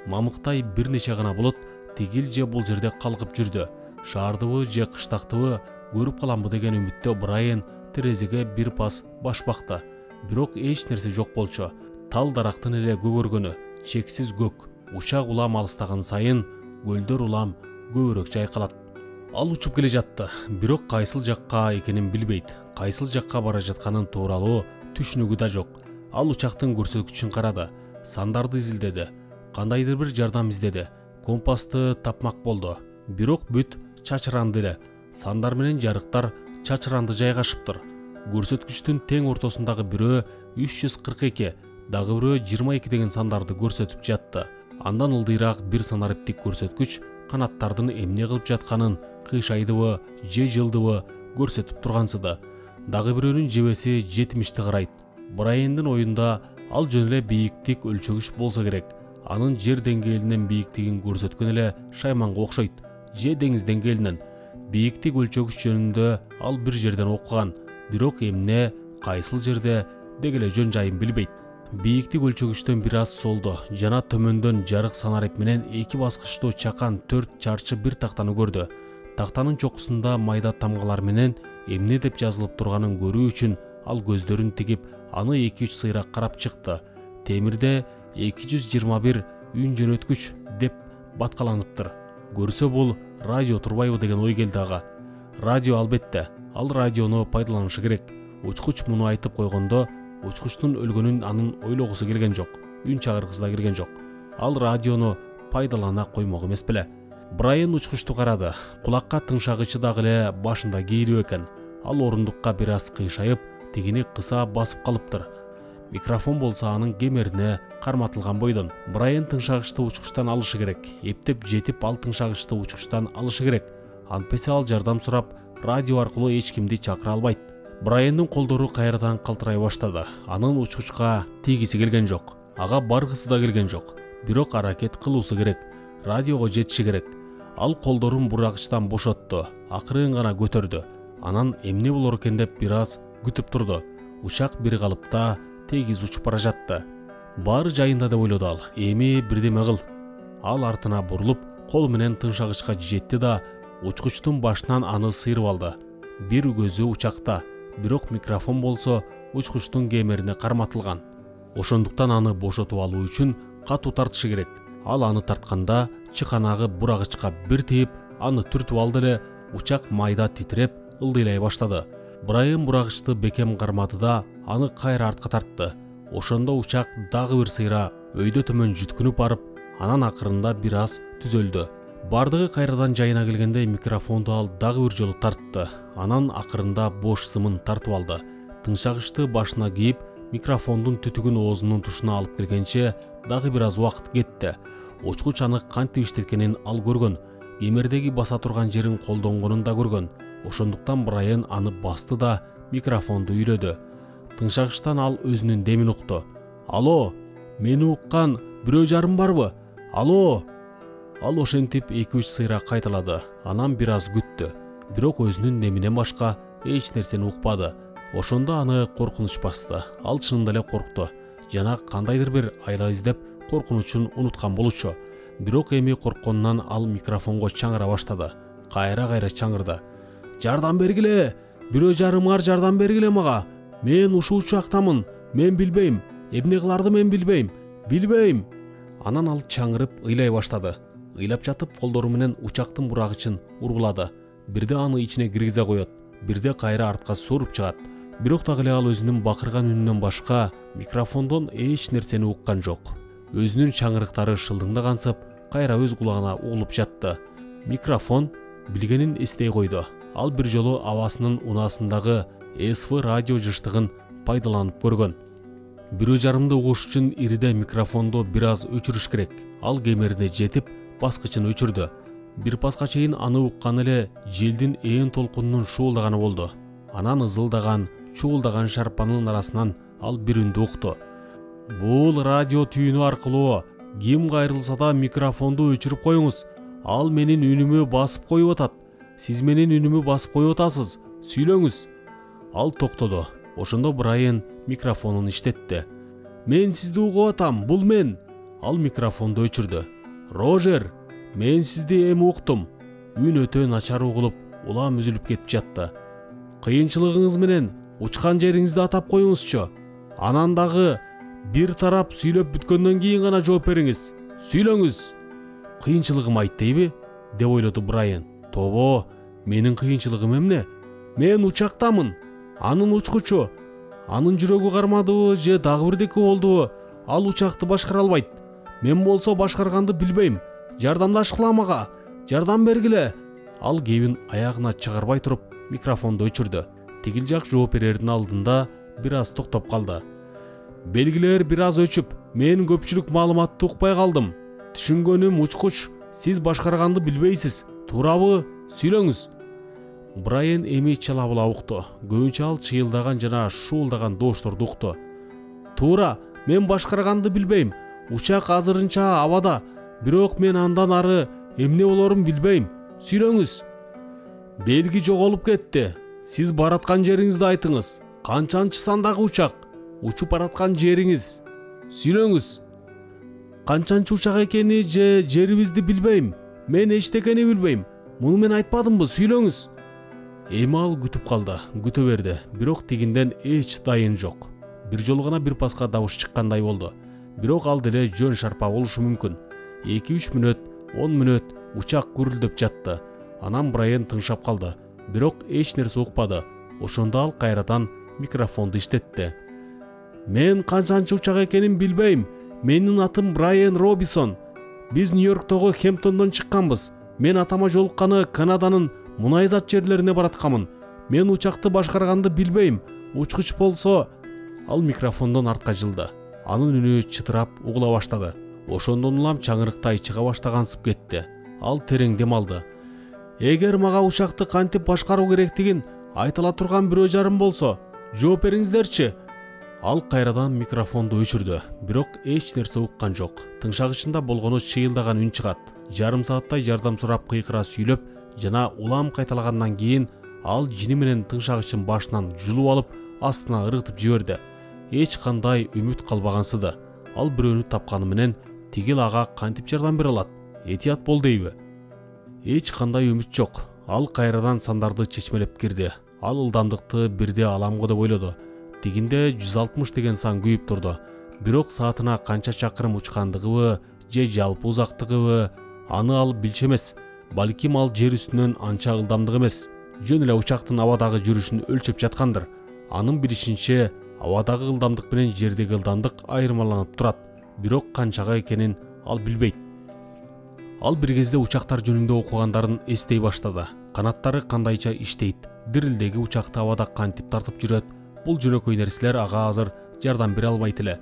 Мамыктай бир нече гана булут тигил же бул жерде калкып жүрдү. Шаардыбы же кыштактыбы көрүп каламбы деген үмүттө Брайан терезеге бир пас баш бакты. Бирок эч нерсе жок болчу. Тал дарактын эле көгөргөнү, чексиз көк. Учак улам алыстаган сайын көлдөр улам көбүрөөк жайкалат. Ал учуп келе жатты, бирок кайсыл жакка экенин билбейт. Кайсыл жакка бара жатканын тууралуу түшүнүгү да жок. Ал учактын көрсөткүчүн карады, сандарды изилдеди, кандайдыр бир жардам издеди. Компасты тапмак болду, бирок бүт чачыранды эле. Сандар менен жарыктар чачыранды жайгашыптыр. Көрсөткүчтүн тең ортосундагы бирөө 342, дагы бирөө 22 деген сандарды көрсөтүп жатты. Андан ылдыйраак бир санариптик көрсөткүч канаттардын эмне кылып жатканын, кыйшайдыбы же жылдыбы көрсөтүп тургансыды. Дагы бирөөнүн жебеси 70ти карайт. Брайандын оюнда ал жөн эле бийиктик өлчөгүч болсо керек. Анын жер деңгээлинен бийиктигин көрсөткөн эле шайманга окшойт. Же деңиз деңгээлинен бийиктик өлчөгүч жөнүндө ал бир жерден окуган, бирок эмне, кайсыл жерде деги эле жөн жайын билбейт. Бийиктик өлчөгүчтөн бир аз солдо жана төмөндөн жарык санарип менен 2 баскычтуу чакан 4 чарчы бир тактаны көрдү. Тактанын чокусунда майда тамгалар менен эмне деп жазылып турганын көрүү үчүн ал көздөрүн тигип, аны 2-3 сыйрак карап чыкты. Темирде 221 үн жөнөткүч деп баткаланыптыр. Көрсө бул радио турбайбы деген ой келди ага. Радио албетте, ал радиону пайдаланышы керек. Учкуч муну айтып койгондо, учкучтун өлгөнүн анын ойлогусу келген жок, үн чыгаргысы да келген жок. Ал радиону пайдалана коймок эмес беле. Брайан учкучту карады. Кулакка тыңшагычы дагы эле башында кейилип экен. Ал орундукка бир аз кыйшайып, тигини кыса басып калыптыр. Микрофон болсо анын кемерине карматылган бойдон. Брайан тыңшагычты учкучтан алышы керек. Эптеп жетип ал тыңшагычты учкучтан алышы керек. Антпесе ал жардам сурап, радио аркылуу эч кимди чакыра албайт. Брайандын колдору кайрадан калтырай баштады. Анын учкучка тийгиси келген жок. Ага баргысы да келген жок. Бирок аракет кылуусу керек. Радиого жетиши керек. Ал колдорун бурагычтан бошотту. Акырын гана көтөрдү. Анан эмне болор экен деп бир аз күтүп турду. Учак бир калыпта тегиз учуп бара жатты. Баары жайында деп ойлоду ал. Эми бирдеме кыл. Ал артына бурулуп, кол менен тыңшагычка жетти да учкучтун башынан аны сыйрып алды. Бир көзү учакта, бирок микрофон болсо учкучтун кемерине карматылган. Ошондуктан аны бошотуп алуу үчүн катуу тартышы керек. Ал аны тартканда чыканагы бурагычка бир тийип, аны түртүп алды эле, учак майда титиреп, ылдыйлай баштады. Брайан бурагычты бекем кармады да аны кайра артка тартты. Ошондо учак дагы бир сыйра өйдө төмөн жүткүнүп барып, анан акырында бир аз түзөлдү. Бардыгы кайрадан жайына келгенде микрофонду ал дагы бир жолу тартты. Анан акырында бош сымын тартып алды. Тыңшагычты башына кийип, микрофондун түтүгүн оозунун тушуна алып келгенче дагы бир аз убакыт кетти. Учкуч аны кантип иштеткенин ал көргөн. Кемердеги баса турган жерин колдонгонун да көргөн. Ошондуктан Брайан аны басты да микрофонду үйлөдү. Тыңшагычтан ал өзүнүн демин укту. Алло, мени уккан бирөө жарым барбы? Алло! Ал ошентип 2-3 сыйра кайталады. Анан бир аз күттү. Бирок өзүнүн деминен башка эч нерсени укпады. Ошондо аны коркунуч басты. Ал чынында эле коркту. Жана кандайдыр бир айла издеп коркунучун унуткан болчу. Бирок эми коркконунан ал микрофонго чаңыра баштады. Кайра чаңырды. Жардам бергиле! Бирөө жарымар жардам бергиле мага! Мен ушул учактамын. Мен билбейм. Эмне кыларды мен билбейм. Билбейм. Анан ал чаңырып ыйлай баштады. Ыйлап жатып колдору менен учактын бурагычын ургулады. Бирде аны ичине киргизе коет, бирде кайра артка сууруп чыгат. Бирок дагы эле ал өзүнүн бакырган үнүнөн башка микрофондон эч нерсени уккан жок. Өзүнүн чаңырыктары шылдыңдагансып, кайра өз кулагына угулуп жатты. Микрофон билгенин эстей койду. Ал бир жолу абасынын унаасындагы СФ радио жыштыгын пайдаланып көргөн. 1,5 угуш үчүн ириде микрофонду бир аз өчүрүш керек. Ал кемерине жетип, баскычын өчүрдү. Бир паска чейин аны уккан эле желдин ээн толкунунун шуулдаганы болду. Анан ызылдаган, чуулдаган шарпанын арасынан ал бир үндү укту. Бул радио түйүнү аркылуу ким кайрылса да микрофонду өчүрүп коюңуз. Ал менин үнүмө басып коюп атат. Сиз менин үнүмө басып коюп атасыз. Сүйлөңүз. Ал токтоду. Ошондо Брайан микрофонун иштетти. Мен сизди угуп атам, бул мен. Ал микрофонду өчүрдү. Рожер, мен сизди эми уктум. Үн өтө начар угулуп, улам үзүлүп кетип жатты. Кыйынчылыгыңыз менен учкан жериңизди атап коюңузчу. Анан дагы бир тарап сүйлөп бүткөндөн кийин гана жооп бериңиз. Сүйлөңүз. Кыйынчылыгым айт дейби? Деп ойлоду Брайан. Тобо, менин кыйынчылыгым эмне? Мен учактамын. Анын учкучу. Анын жүрөгү кармадыбы же дагы бирдеке болдубу? Ал учакты башкара албайт. Мен болсо башкарганды билбейм. Жардамдашкыла мага. Жардам бергиле. Ал кебин аягына чыгарбай туруп микрофонду өчүрдү. Тигил жак жооп берердин алдында бир аз токтоп калды. Белгилер бир аз өчүп, мен көпчүлүк маалыматты укпай калдым. Түшүнгөнүм учкуч, сиз башкарганды билбейсиз. Туурабы? Сүйлөңүз. Брайан эми чалабыла укту. Көбүнчө ал чыйылдаган жана шуулдаган доошторду укту. Туура, мен башкарганды билбейм. Учак азырынча абада, бирок мен андан ары эмне болорун билбейм. Сүйлөңүз. Белги жоголуп кетти. Сиз бараткан жериңизди айтыңыз. Канчанчы сандагы учак? Учуп бараткан жериңиз. Сүйлөңүз. Канчанчы учак экени же жерибизди билбейм. Мен эчтекени билбейм. Муну мен айтпадымбы? Сүйлөңүз. Эми ал күтүп калды, күтө берди, бирок тигинден эч дайын жок. Бир жолу гана бир паска добуш чыккандай болду. Бирок ал деле жөн шарпа болушу мүмкүн. 2-3 мүнөт, 10 мүнөт учак гүрүлдөп жатты. Анан Брайан тыңшап калды, бирок эч нерсе укпады. Ошондо ал кайрадан микрофонду иштетти. Мен канчанчы учак экенин билбейм. Менин атым Брайан Робинсон. Биз Нью-Йорктогу Хэмптондон чыкканбыз. Мен атама жолукканы Канаданын мунайзат жерлерине бараткамын. Мен учакты башкарганды билбейм. Учкуч болсо. Ал микрофондон артка жылды. Анын үнү чытырап угула баштады. Ошондон улам чаңырыктай чыга баштагансып кетти. Ал терең дем алды. Эгер мага учакты кантип башкаруу керектигин айтыла турган 1,5 болсо, жооп бериңиздерчи. Ал кайрадан микрофонду өчүрдү, бирок эч нерсе уккан жок. Тыңшагычында болгону чыйылдаган үн чыгат. Жарым сааттай жардам сурап кыйкыра сүйлөп жана улам кайталагандан кийин ал жини менен тыңшагычын башынан жулуп алып, астына ыргытып жиберди. Эч кандай үмүт калбагансыды. Ал бирөөнү тапканы менен тигил ага кантип жардам бере алат? Этият бол дейби? Эч кандай үмүт жок. Ал кайрадан сандарды чечмелеп кирди. Ал ылдамдыкты бирде аламго деп ойлоду. Тигинде 160 деген сан күйүп турду. Бирок саатына канча чакырым учкандыгыбы же жалпы узактыгыбы аны ал билчү эмес. Балким ал жер үстүнөн анча ылдамдык эмес. Жөн эле учактын абадагы жүрүшүн өлчөп жаткандыр. Анын билишинче, абадагы ылдамдык менен жердеги ылдамдык айырмаланып турат. Бирок канчага экенин ал билбейт. Ал бир кезде учактар жөнүндө окугандарын эстей баштады. Канаттары кандайча иштейт, дирилдеги учакты абада кантип тартып жүрөт. Бул жөнөкөй нерселер ага азыр жардам бере албайт эле.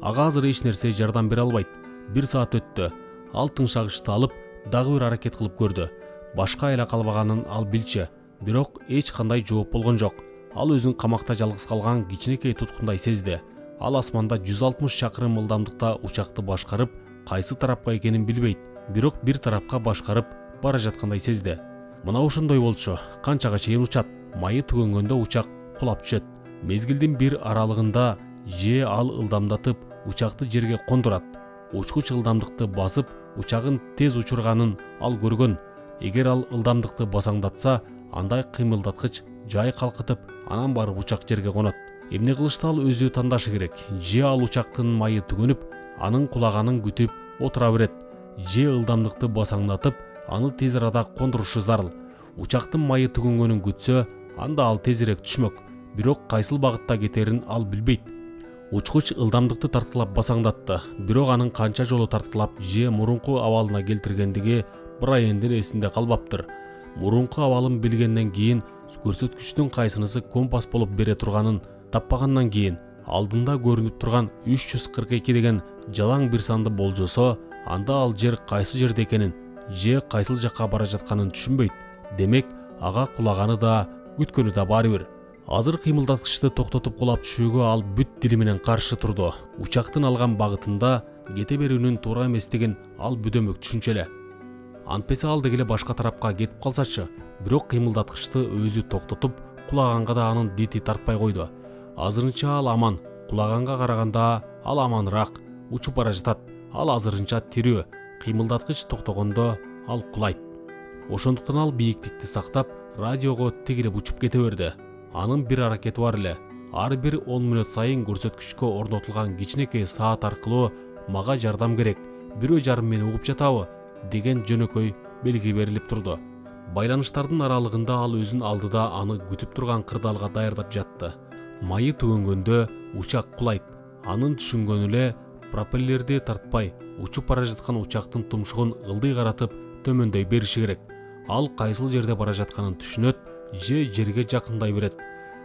Ага азыр эч нерсе жардам бере албайт. 1 саат өттү. Ал тыңшагычты алып, дагы бир аракет кылып көрдү. Башка айла калбаганын ал билчү, бирок эч кандай жооп болгон жок. Ал өзүн камакта жалгыз калган кичинекей туткундай сезди. Ал асманда 160 чакырым ылдамдыкта учакты башкарып, кайсы тарапка экенин билбейт, бирок бир тарапка башкарып бара жаткандай сезди. Мына ошондой болчу. Канчага чейин учат? Майы түгөнгөндө учак кулап түшөт. Мезгилдин бир аралыгында же ал ылдамдатып учакты жерге кондурат. Учкуч ылдамдыкты басып, учагын тез учурганын ал көргөн. Эгер ал ылдамдыкты басаңдатса, андай кыймылдаткыч жай калкытып, анан барып учак жерге конот. Эмне кылышты ал өзү тандашы керек. Же ал учактын майы түгөнүп, анын кулаганын күтүп отура берет, же ылдамдыкты басаңдатып, аны тез арада кондурушу зарыл. Учактын майы түгөнгөнүн күтсө, анда ал тезирээк түшмөк. Бирок кайсыл багытта кетерин ал билбейт. Учкуч ылдамдыкты тарткылап басаңдатты, бирок анын канча жолу тарткылап же мурунку абалына келтиргендиги Брайандын эсинде калбаптыр. Мурунку абалын билгенден кийин көрсөткүчтүн кайсынысы компас болуп бере турганын таппагандан кийин алдында көрүнүп турган 342 деген жалаң бир санды болжосо, анда ал жер кайсы жерде экенин же кайсыл жакка бара жатканын түшүнбөйт. Демек, ага кулаганы да, күткөнү да баары бир. Азыр кыймылдаткычты токтотуп кулап түшүүгө ал бүт дили менен каршы турду. Учактын алган багытында кете берүүнүн туура эместигин ал бүдөмөк түшүнчү эле. Антпесе ал дегеле башка тарапка кетип калсачы. Бирок кыймылдаткычты өзү токтотуп, кулаганга да анын дити тартпай койду. Азырынча ал аман, кулаганга караганда ал аманыраак, учуп бара жатат. Ал азырынча тирүү, кыймылдаткыч токтогондо ал кулайт. Ошондуктан ал бийиктикти сактап, радиого тегилеп учуп кете берди. Анын бир аракети бар эле. Ар бир 10 мүнөт сайын көрсөткүчкө орнотулган кичинекей саат аркылуу мага жардам керек, бирөө жарым мени угуп жатабы деген жөнөкөй белги берилип турду. Байланыштардын аралыгында ал өзүн алдыда аны күтүп турган кырдаалга даярдап жатты. Майы түгөнгөндө учак кулайт. Анын түшүнгөнү эле пропеллерди тартпай, учуп бара жаткан учактын тумшугун ылдый каратып төмөндөй бериши керек. Ал кайсыл жерде бара жатканын түшүнөт же жерге жакындай берет.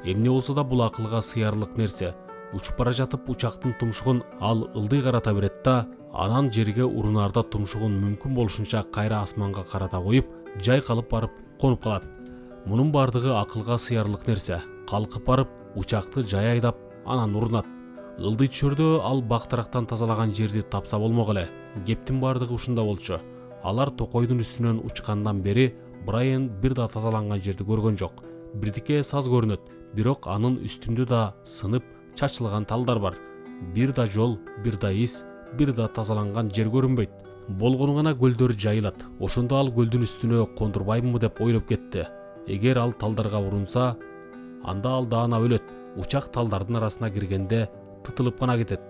Эмне болсо да бул акылга сыярлык нерсе. Учуп бара жатып учактын тумшугун ал ылдый карата берет да, анан жерге урунаарда тумшугун мүмкүн болушунча кайра асманга карата коюп, жайкалып барып конуп калат. Мунун бардыгы акылга сыярлык нерсе. Калкып барып, учакты жай айдап, анан урунат. Ылдый түшөрдө ал бактырактан тазалаган жерди тапса болмок эле. Кептин бардыгы ушунда болчу. Алар токойдун үстүнөн учкандан бери Брайан бир да тазаланган жерди көргөн жок. Бирдике саз көрүнөт, бирок анын үстүндө да сынып чачылган талдар бар. Бир да жол, бир да из, бир да тазаланган жер көрүнбөйт. Болгону гана көлдөр жайылат. Ошондо ал көлдүн үстүнө кондурбаймынбы деп ойлоп кетти. Эгер ал талдарга урунса, анда ал даана өлөт. Учак талдардын арасына киргенде тытылып гана кетет.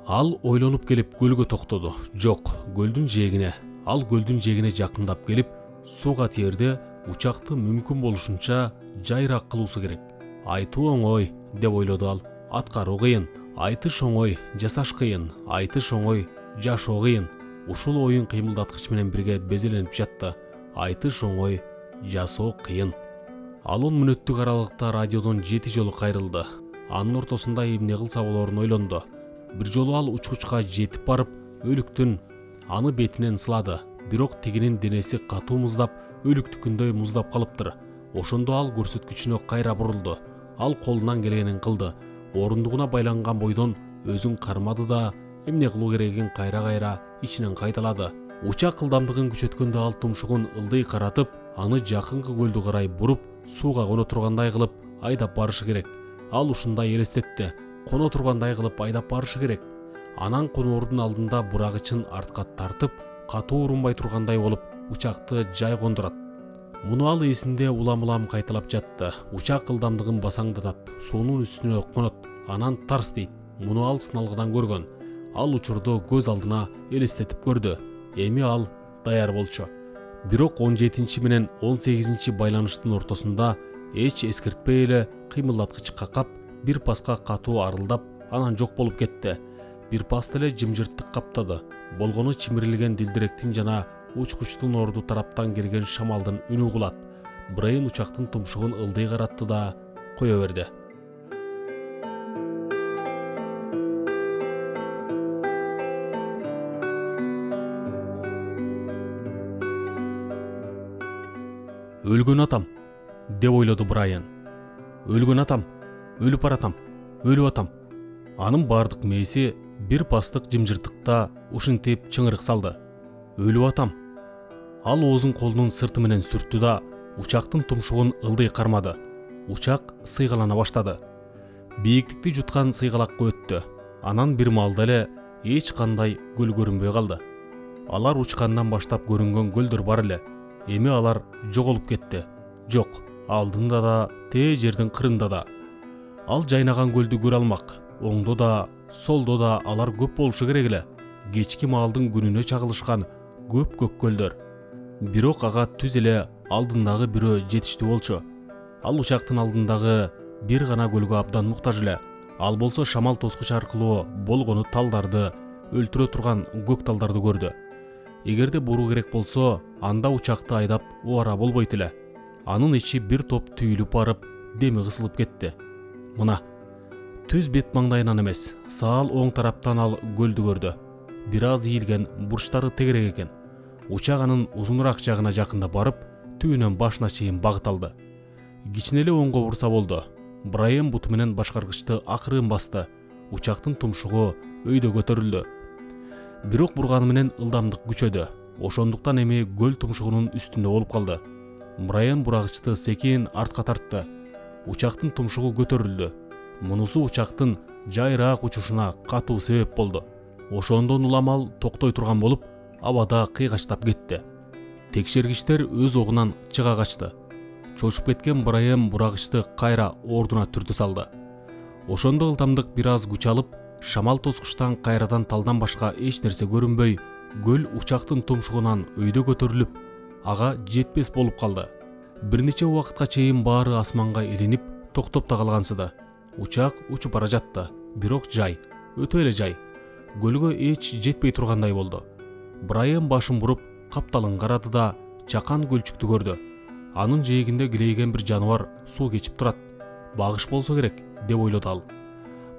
Ал ойлонуп келип көлгө токтоду. Жок, көлдүн жээгине. Ал көлдүн жээгине жакындап келип, сууга тиерде учакты мүмкүн болушунча жайыраак кылуусу керек. Айтуу оңой, деп ойлоду ал. Аткаруу кыйын. Айтыш оңой, жасаш кыйын. Айтыш оңой, жашоо кыйын. Ушул оюн кыймылдаткыч менен бирге безеленип жатты. Айтыш оңой, жасоо кыйын. Ал 10 мүнөттүк аралыкта радиодон 7 жолу кайрылды. Анын ортосунда эмне кылса болорун ойлонду. Бир жолу ал учкучка жетип барып, өлүктүн аны бетинен сылады. Бирок тигинин денеси катуу муздап, өлүктүкүндөй муздап калыптыр. Ошондо ал көрсөткүчүнө кайра бурулду. Ал колунан келгенин кылды. Орундугуна байланган бойдон өзүн кармады да, эмне кылуу керегин кайра-кайра ичинен кайталады. Учак ылдамдыгын күчөткөндө ал тумшугун ылдый каратып, аны жакынкы көлдү карай буруп, сууга коно тургандай кылып айдап барышы керек. Ал ушундай элестетти. Коно тургандай кылып айдап барышы керек. Анан коноордун алдында бурагычын артка тартып, катуу урунбай тургандай болуп, учакты жай кондурат. Муну ал эсинде улам-улам кайталап жатты. Учак ылдамдыгын басаңдатат, суунун үстүнө конот, анан тарс дейт. Муну ал сыналгыдан көргөн. Ал учурду көз алдына элестетип көрдү. Эми ал даяр болчу. Бирок 17 менен 18 байланыштын ортосунда эч эскертпей эле кыймылдаткыч какап, бир паска катуу арылдап, анан жок болуп кетти. Бир паста эле жымжырттык каптады. Болгону чимирилген дилдиректин жана учкучтун орду тараптан келген шамалдын үнү угулат. Брайан учактын тумшугун ылдый каратты да кое берди. Өлгөн атам, деп ойлоду Брайан. Өлгөн атам, өлүп баратам, өлүп атам. Анын бардык мээси бир пастык жымжыртыкта ушинтип чыңырык салды. Өлүп атам. Ал оозун колунун сырты менен сүрттү да, учактын тумшугун ылдый кармады. Учак сыйгалана баштады. Бийиктикти жуткан сыйгалакка өттү. Анан бир маалда эле эч кандай көл көрүнбөй калды. Алар учкандан баштап көрүнгөн көлдөр бар эле. Эми алар жоголуп кетти. Жок, алдында да, тээ жердин кырында да. Ал жайнаган көлдү көрө алмак. Оңдо да, солдо да алар көп болушу керек эле. Кечки маалдын күнүнө чагылышкан көп көлдөр. Бирок ага түз эле алдындагы бирөө жетиштүү болчу. Ал учактын алдындагы бир гана көлгө абдан муктаж эле. Ал болсо шамал тоскуч аркылуу болгону талдарды, өлтүрө турган көк талдарды көрдү. Эгерде буруу керек болсо, анда учакты айдап убара болбойт эле. Анын ичи бир топ түйүлүп барып, деми кысылып кетти. Мына, Төз бет маңдайынан эмес, саал оң тараптан ал көлдү көрдү. Бир аз ийилген, бурчтары тегерек экен. Учак анын узунураак жагына жакында барып, түбүнөн башына чейин багыт алды. Кичинеле оңго бурса болду. Брайан буту менен башкаргычты акырын басты. Учактын тумшугу өйдө көтөрүлдү. Бирок бурганы менен ылдамдык күчөдү. Ошондуктан эми көл тумшугунун үстүндө болуп калды. Брайан бурагычты секин артка тартты. Учактын тумшугу көтөрүлдү. Мунусу учактын жайыраак учушуна катуу себеп болду. Ошондон улам ал токтой турган болуп, абада кыйгачтап кетти. Текшергичтер өз огунан чыга качты. Чочуп кеткен Брайан бурагычты кайра ордуна түртү салды. Ошондо ылдамдык бир аз күч алып, шамал тоскучтан кайрадан талдан башка эч нерсе көрүнбөй, көл учактын тумшугунан өйдө көтөрүлүп, ага жетпес болуп калды. Бир нече убакытка чейин баары асманга илинип, токтоп да калгансыды. Учак учуп бара жатты, бирок жай, өтө эле жай. Көлгө эч жетпей тургандай болду. Брайан башын буруп, капталын карады да чакан көлчүктү көрдү. Анын жээгинде килейген бир жаныбар суу кечип турат. Багыш болсо керек, деп ойлоду ал.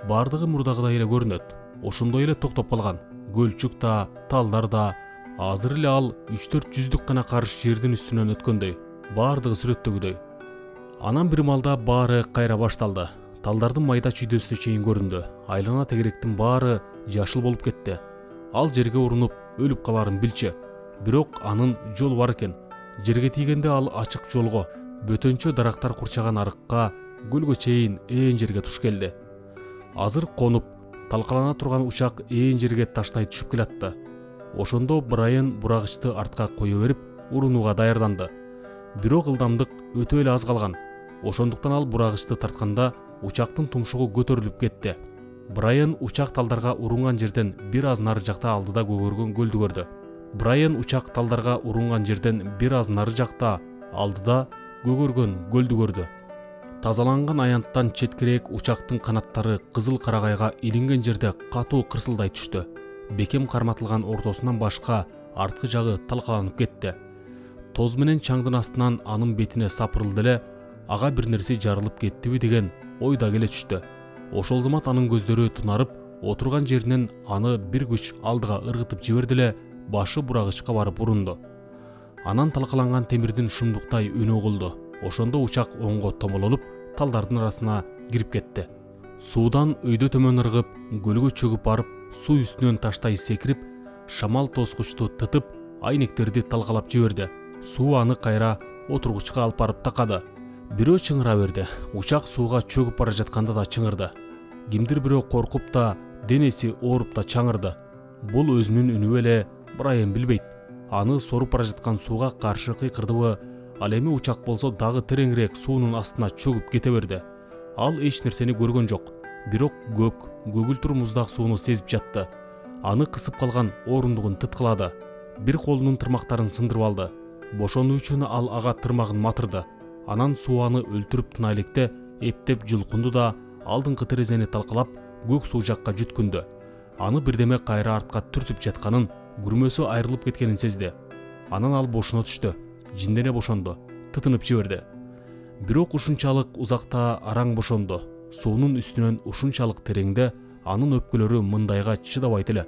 Бардыгы мурдагыдай эле көрүнөт. Ошондой эле токтоп калган. Көлчүк да, талдар да. Азыр эле ал 3-4 жүздүк гана карыш жердин үстүнөн өткөндөй. Бардыгы сүрөттөгүдөй. Анан бир малда баары кайра башталды. Талдардын майда чүйдөсүнө чейин көрүндү. Айлана тегеректин баары жашыл болуп кетти. Ал жерге урунуп, өлүп каларын билчү. Бирок анын жолу бар экен. Жерге тийгенде ал ачык жолго, бөтөнчө дарактар курчаган арыкка, көлгө чейин ээн жерге туш келди. Азыр конуп, талкалана турган учак ээн жерге таштай түшүп келатты. Ошондо Брайан бурагычты артка кое берип, урунууга даярданды. Бирок ылдамдык өтө эле аз калган. Ошондуктан ал бурагычты тартканда учактын тумшугу көтөрүлүп кетти. Брайан учак талдарга урунган жерден бир аз нары жакта алдыда көгөргөн көлдү көрдү. Брайан учак талдарга урунган жерден бир аз нары жакта алдыда көгөргөн көлдү көрдү. Тазаланган аянттан четкерээк учактын канаттары кызыл карагайга илинген жерде катуу кырсылдай түштү. Бекем карматылган ортосунан башка арткы жагы талкаланып кетти. Тоз менен чаңдын астынан анын бетине сапырылды эле, ага бир нерсе жарылып кеттиби деген ой да келе түштү. Ошол замат анын көздөрү тунарып, отурган жеринен аны бир күч алдыга ыргытып жиберди эле, башы бурагычка барып урунду. Анан талкаланган темирдин шумдуктай үнү угулду. Ошондо учак оңго томолонуп, талдардын арасына кирип кетти. Суудан өйдө төмөн ыргып, көлгө чөгүп барып, суу үстүнөн таштай секирип, шамал тоскучту тытып, айнектерди талкалап жиберди. Суу аны кайра отургучка алып барып такады. Бирөө чыңыра берди. Учак сууга чөгүп бара жатканда да чыңырды. Кимдир бирөө коркуп да, денеси ооруп да чаңырды. Бул өзүнүн үнү эле, Брайан билбейт. Аны соруп бара жаткан сууга каршы кыйкырдыбы, ал эми учак болсо дагы тереңирээк суунун астына чөгүп кете берди. Ал эч нерсени көргөн жок, бирок көгүлтүр муздак сууну сезип жатты. Аны кысып калган орундугун тыткылады. Бир колунун тырмактарын сындырып алды. Бошонуу үчүн ал ага тырмагын матырды. Анан суу аны өлтүрүп тына электе эптеп жулкунду да, алдыңкы терезени талкалап, көк суу жакка жүткүндү. Аны бирдеме кайра артка түртүп жатканын, күрмөсү айрылып кеткенин сезди. Анан ал бошоно түштү. Жиндене бошонду, тытынып жиберди. Бирок ушунчалык узакта араң бошонду. Суунун үстүнөн ушунчалык тереңде анын өпкөлөрү мындайга чыдабайт эле.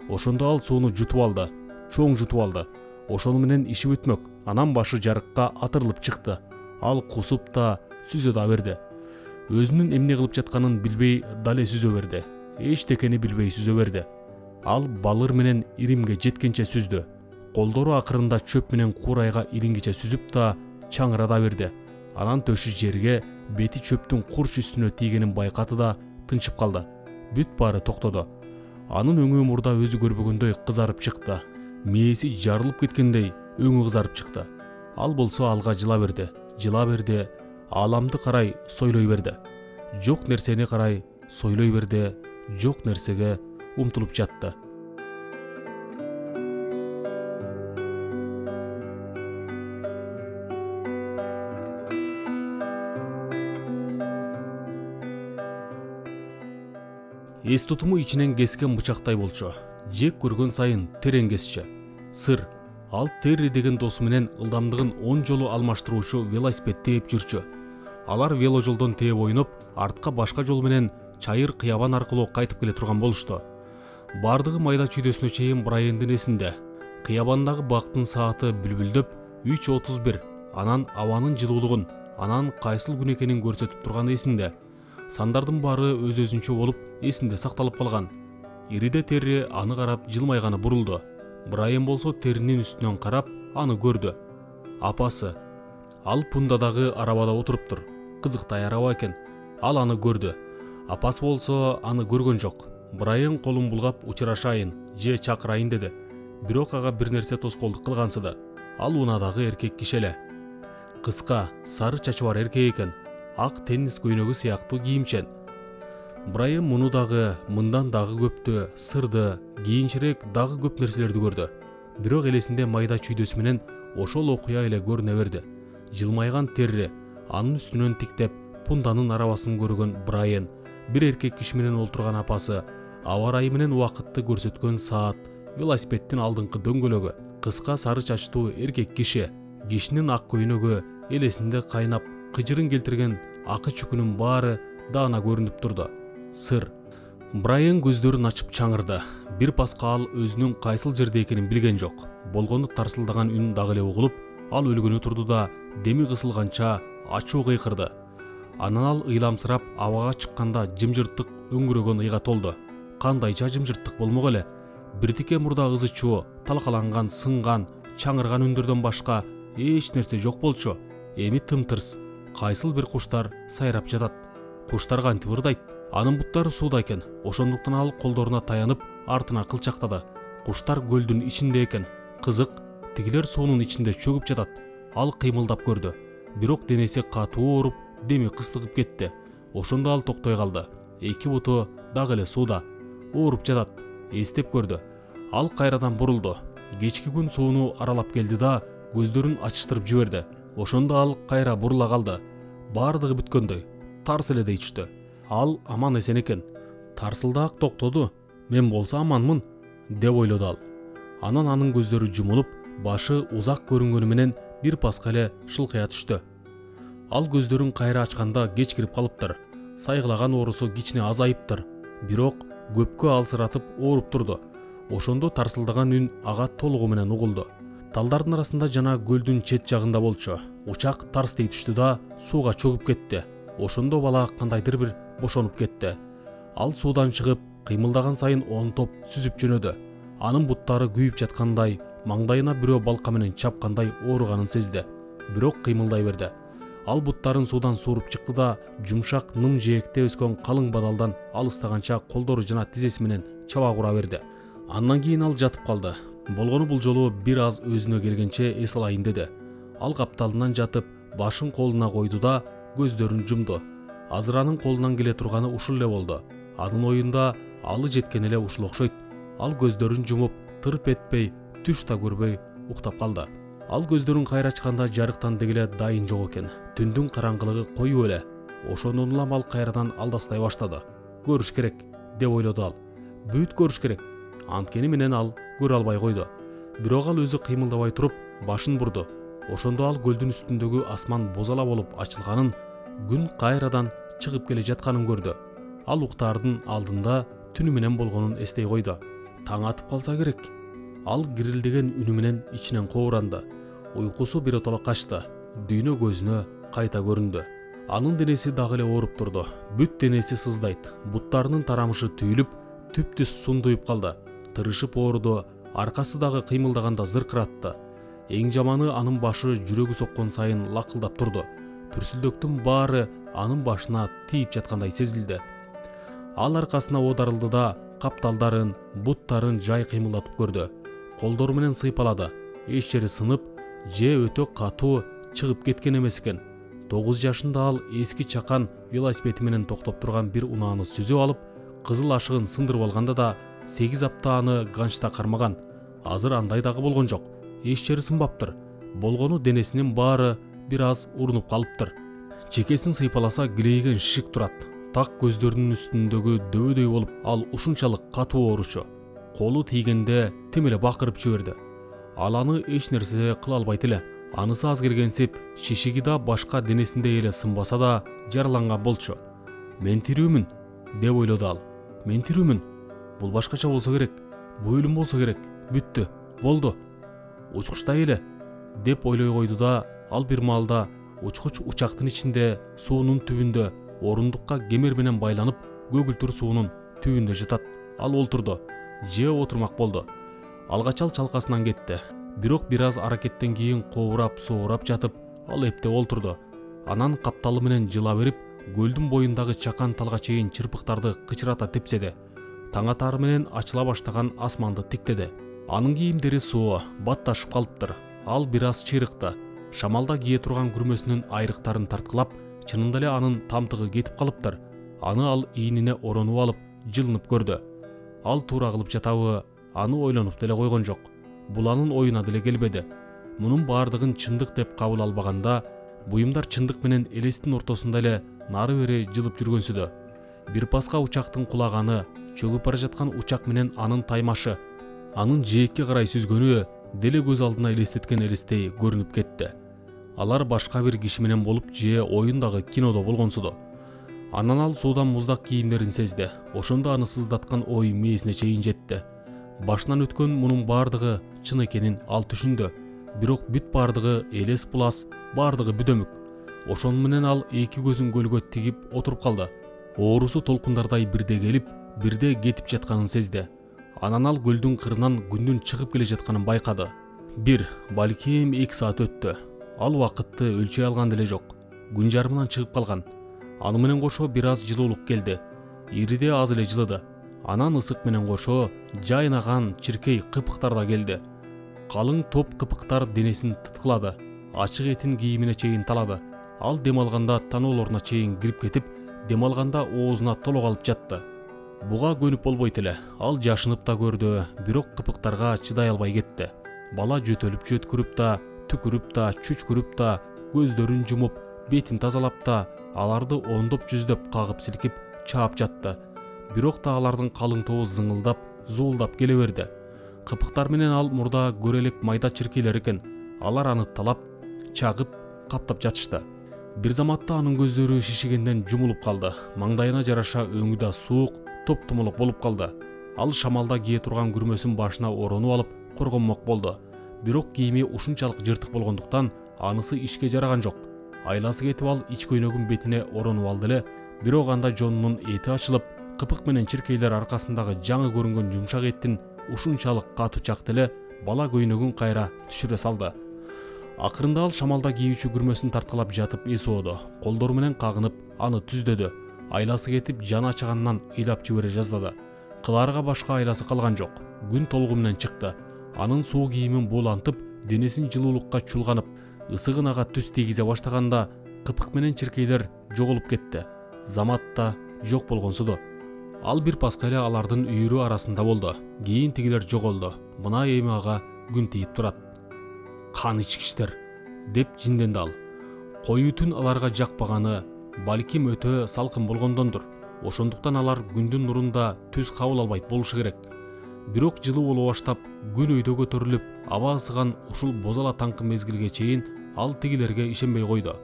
Ошондо ал сууну жутуп алды, чоң жутуп алды. Ошону менен иши бүтмөк. Анан башы жарыкка атырылып чыкты. Ал кусуп да, сүзө да берди. Өзүнүн эмне кылып жатканын билбей дале сүзө берди. Эчтекени билбей сүзө берди. Ал балыр менен иримге жеткенче сүздү. Колдору акырында чөп менен курайга илингиче сүзүп да, чаңыра да берди. Анан төшү жерге, бети чөптүн курч үстүнө тийгенин байкады да, тынчып калды. Бүт баары токтоду. Анын өңү мурда өзү көрбөгөндөй кызарып чыкты. Мээси жарылып кеткендей өңү кызарып чыкты. Ал болсо алга жыла берди, ааламды карай сойлой берди. Жок нерсени карай сойлой берди, жок нерсеге умтулуп жатты. Эс тутуму ичинен кескен бычактай болчу. Жек көргөн сайын терең кесчү. Сыр. Ал Терри деген досу менен ылдамдыгын 10 жолу алмаштыруучу велосипед тээп жүрчү. Алар вело жолдон тээп ойноп, артка башка жол менен чайыр кыябан аркылуу кайтып келе турган болушту. Бардыгы майда чүйдөсүнө чейин Брайандын эсинде. Кыябандагы бактын сааты бүлбүлдөп 3:31, анан абанын жылуулугун, анан кайсыл күн экенин көрсөтүп турганы эсинде. Сандардын баары өз-өзүнчө болуп эсинде сакталып калган. Ириде Терри аны карап жылмайганы бурулду. Брайан болсо Терринин үстүнөн карап аны көрдү. Апасы. Ал пундадагы арабада отуруптур. Кызыктай араба экен. Ал аны көрдү. Апасы болсо аны көргөн жок. Брайан колун булгап учурашайын же чакырайын деди. Бирок ага бир нерсе тоскоолдук кылгансыды. Ал унаадагы эркек киши эле. Кыска, сары чачы бар эркек экен. Ак теннис көйнөгү сыяктуу кийимчен. Брайан муну дагы, мындан дагы көптү, сырды, кийинчерээк дагы көп нерселерди көрдү. Бирок элесинде майда чүйдөсү менен ошол окуя эле көрүнө берди. Жылмайган Терри, анын үстүнөн тиктеп пунданын арабасын көргөн Брайан, бир эркек киши менен олтурган апасы, аба ырайы менен убакытты көрсөткөн саат, велосипеддин алдыңкы дөңгөлөгү, кыска сары чачтуу эркек киши, кишинин ак көйнөгү, элесинде кайнап кыжырын келтирген акы чүкүнүн баары даана көрүнүп турду. Сыр. Брайан көздөрүн ачып чаңырды. Бир паска ал өзүнүн кайсыл жерде экенин билген жок. Болгону тарсылдаган үн дагы эле угулуп, ал өлгөнү турду да деми кысылганча ачуу кыйкырды. Анан ал ыйламсырап абага чыкканда жымжырттык өңгүрөгөн ыйга толду. Кандайча жымжырттык болмок эле. Биртике мурда ызы чуу, талкаланган, сынган, чаңырган үндөрдөн башка эч нерсе жок болчу. Эми тымтырс, кайсыл бир куштар сайрап жатат. Куштар кантип ырдайт? Анын буттары сууда экен. Ошондуктан ал колдоруна таянып, артына кылчактады. Куштар көлдүн ичинде экен. Кызык, тигилер суунун ичинде чөгүп жатат. Ал кыймылдап көрдү. Бирок денеси катуу ооруп, деми кыстыгып кетти. Ошондо ал токтой калды. Эки буту дагы эле сууда. Ооруп жатат. Эстеп көрдү. Ал кайрадан бурулду. Кечки күн сууну аралап келди да көздөрүн ачыштырып жиберди. Ошондо ал кайра бурула калды. Бардыгы бүткөндөй. Тарс эле дей түштү. Ал аман эсен экен. Тарсылдаак токтоду. Мен болсо аманмын, деп ойлоду ал. Анан анын көздөрү жумулуп, башы узак көрүнгөнү менен бир паска эле шылкыя түштү. Ал көздөрүн кайра ачканда кеч кирип калыптыр. Сайгылаган оорусу кичине азайыптыр. Бирок көпкө алсыратып ооруп турду. Ошондо тарсылдаган үн ага толугу менен угулду. Талдардын арасында жана көлдүн чет жагында болчу. Учак тарс дей түштү да сууга чөгүп кетти. Ошондо бала кандайдыр бир бошонуп кетти. Ал суудан чыгып, кыймылдаган сайын онтоп сүзүп жөнөдү. Анын буттары күйүп жаткандай, маңдайына бирөө балка менен чапкандай ооруганын сезди. Бирок кыймылдай берди. Ал буттарын суудан сууруп чыкты да жумшак ным жээкте өскөн калың бадалдан алыстаганча колдору жана тизеси менен чаба кура берди. Андан кийин ал жатып калды. Болгону бул жолу бир аз өзүнө келгенче эс алайын деди. Ал капталынан жатып, башын колуна койду да көздөрүн жумду. Азыр анын колунан келе турганы ушул эле болду. Анын оюнда алы жеткен эле ушул окшойт. Ал көздөрүн жумуп, тырп этпей, түш да көрбөй уктап калды. Ал көздөрүн кайра ачканда жарыктан дегеле дайын жок экен. Түндүн караңгылыгы коюу эле. Ошондон улам ал кайрадан алдастай баштады. Көрүш керек, деп ойлоду ал. Бүт көрүш керек. Анткени менен ал көрө албай койду. Бирок ал өзү кыймылдабай туруп, башын бурду. Ошондо ал көлдүн үстүндөгү асман бозала болуп ачылганын, күн кайрадан чыгып келе жатканын көрдү. Ал уктаардын алдында түнү менен болгонун эстей койду. Таң атып калса керек. Ал кирилдеген үнү менен ичинен кобуранды. Уйкусу биротоло качты. Дүйнө көзүнө кайта көрүндү. Анын денеси дагы эле ооруп турду. Бүт денеси сыздайт. Буттарынын тарамышы түйүлүп, түп-түз сундуйуп калды. Тырышып ооруду, аркасы дагы кыймылдаганда зыркыратты. Эң жаманы анын башы жүрөгү соккон сайын лакылдап турду. Түрсүлдөктүн баары анын башына тийип жаткандай сезилди. Ал аркасына оодарылды да капталдарын, буттарын жай кыймылдатып көрдү. Колдору менен сыйпалады. Эч жери сынып, же өтө катуу чыгып кеткен эмес экен. 9 жашында ал эски чакан велосипеди менен токтоп турган бир унааны сүзүп алып, кызыл ашыгын сындырып алганда да 8 апта аны ганчта кармаган. Азыр андай дагы болгон жок. Эч жери сынбаптыр. Болгону денесинин баары бир аз урунуп калыптыр. Чекесин сыйпаласа килейген шишик турат. Так көздөрүнүн үстүндөгү дөбөдөй болуп, ал ушунчалык катуу ооручу. Колу тийгенде тим эле бакырып жиберди. Ал аны эч нерсе кыла албайт эле. Анысы аз келгенсип, шишиги да башка денесинде эле сынбаса да жараланган болчу. Мен тирүүмүн, деп ойлоду ал. Мен тирүүмүн. Бул башкача болсо керек. Бул өлүм болсо керек. Бүттү. Болду. Учкучтай эле деп ойлой койду да, ал бир маалда учкуч учактын ичинде, суунун түбүндө, орундукка кемер менен байланып, көгүлтүр суунун түбүндө жатат. Ал олтурду. Же отурмак болду. Алгач ал чалкасынан кетти. Бирок бир аз аракеттен кийин коорап, соорап жатып, ал эптеп олтурду. Анан капталы менен жыла берип, көлдүн боюндагы чакан талга чейин чырпыктарды кычырата тепседи. Таң атары менен ачыла баштаган асманды тиктеди. Анын кийимдери суу батташып калыптыр. Ал бир аз чыйрыкты. Шамалда кие турган күрмөсүнүн айрыктарын тарткылап, чынында эле анын тамтыгы кетип калыптыр. Аны ал ийнине оронуп алып, жылынып көрдү. Ал туура кылып жатабы, аны ойлонуп деле койгон жок. Бул анын оюна деле келбеди. Мунун баардыгын чындык деп кабыл албаганда, буюмдар чындык менен элестин ортосунда эле нары бери жылып жүргөнсүдө. Бир паска учактын кулаганы, чөгүп бара жаткан учак менен анын таймашы, анын жээкке карай сүзгөнү деле көз алдына элестеткен элестей көрүнүп кетти. Алар башка бир киши менен болуп же оюндагы кинодо болгонсуду. Анан ал суудан муздак кийимдерин сезди. Ошондо аны сыздаткан ой мээсине чейин жетти. Башынан өткөн мунун баардыгы чын экенин ал түшүндү. Бирок бүт баардыгы элес булас, баардыгы бүдөмүк. Ошону менен ал эки көзүн көлгө тигип отуруп калды. Оорусу толкундардай бирде келип, бирде кетип жатканын сезди. Анан ал көлдүн кырынан күндүн чыгып келе жатканын байкады. Бир, балким 2 саат өттү. Ал убакытты өлчөй алган деле жок. Күн жарымынан чыгып калган. Аны менен кошо бир аз жылуулук келди. Ириде аз эле жылыды. Анан ысык менен кошо жайнаган чиркей кыпыктар да келди. Калың топ кыпыктар денесин тыткылады. Ачык этин кийимине чейин талады. Ал дем алганда таноолоруна чейин кирип кетип, дем алганда оозуна толо калып жатты. Буга көнүп болбойт эле. Ал жашынып да көрдү, бирок кыпыктарга чыдай албай кетти. Бала жөтөлүп жөткүрүп да, түкүрүп да, чүчкүрүп да, көздөрүн жумуп, бетин тазалап да, аларды ондоп жүздөп кагып силкип чаап жатты. Бирок да алардын калың тобу зыңылдап, зуулдап келе берди. Кыпыктар менен ал мурда көрө элек майда чиркейлер экен. Алар аны талап, чагып, каптап жатышты. Бир заматта анын көздөрү шишигенден жумулуп калды. Маңдайына жараша өңү да суук, топ-томолок болуп калды. Ал шамалда кие турган күрмөсүн башына оронуп алып, коргонмок болду. Бирок кийими ушунчалык жыртык болгондуктан анысы ишке жараган жок. Айласы кетип ал ич көйнөгүн бетине оронуп алды эле, бирок анда жонунун эти ачылып, кыпык менен чиркейлер аркасындагы жаңы көрүнгөн жумшак эттин ушунчалык катуу чакты эле бала көйнөгүн кайра түшүрө салды. Акырында ал шамалда кийүүчү күрмөсүн тарткылап жатып эс ооду. Колдору менен кагынып, аны түздөдү. Айласы кетип, жаны ачаганынан ыйлап жибере жаздады. Кылаарга башка айласы калган жок. Күн толугу менен чыкты. Анын суу кийимин буулантып, денесин жылуулукка чулганып, ысыгын ага түз тийгизе баштаганда, кыпык менен чиркейлер жоголуп кетти. Замат да жок болгонсуду. Ал бир паска эле алардын үйүрү арасында болду. Кийин тигилер жоголду. Мына эми ага күн тийип турат. Кан ичкичтер, деп жинденди ал. Коюу түн аларга жакпаганы, балким өтө салкын болгондондур. Ошондуктан алар күндүн нурунда түз кабыл албайт болушу керек. Бирок жылуу боло баштап, күн өйдө көтөрүлүп, аба ысыган ушул бозала таңкы мезгилге чейин ал тигилерге ишенбей койду.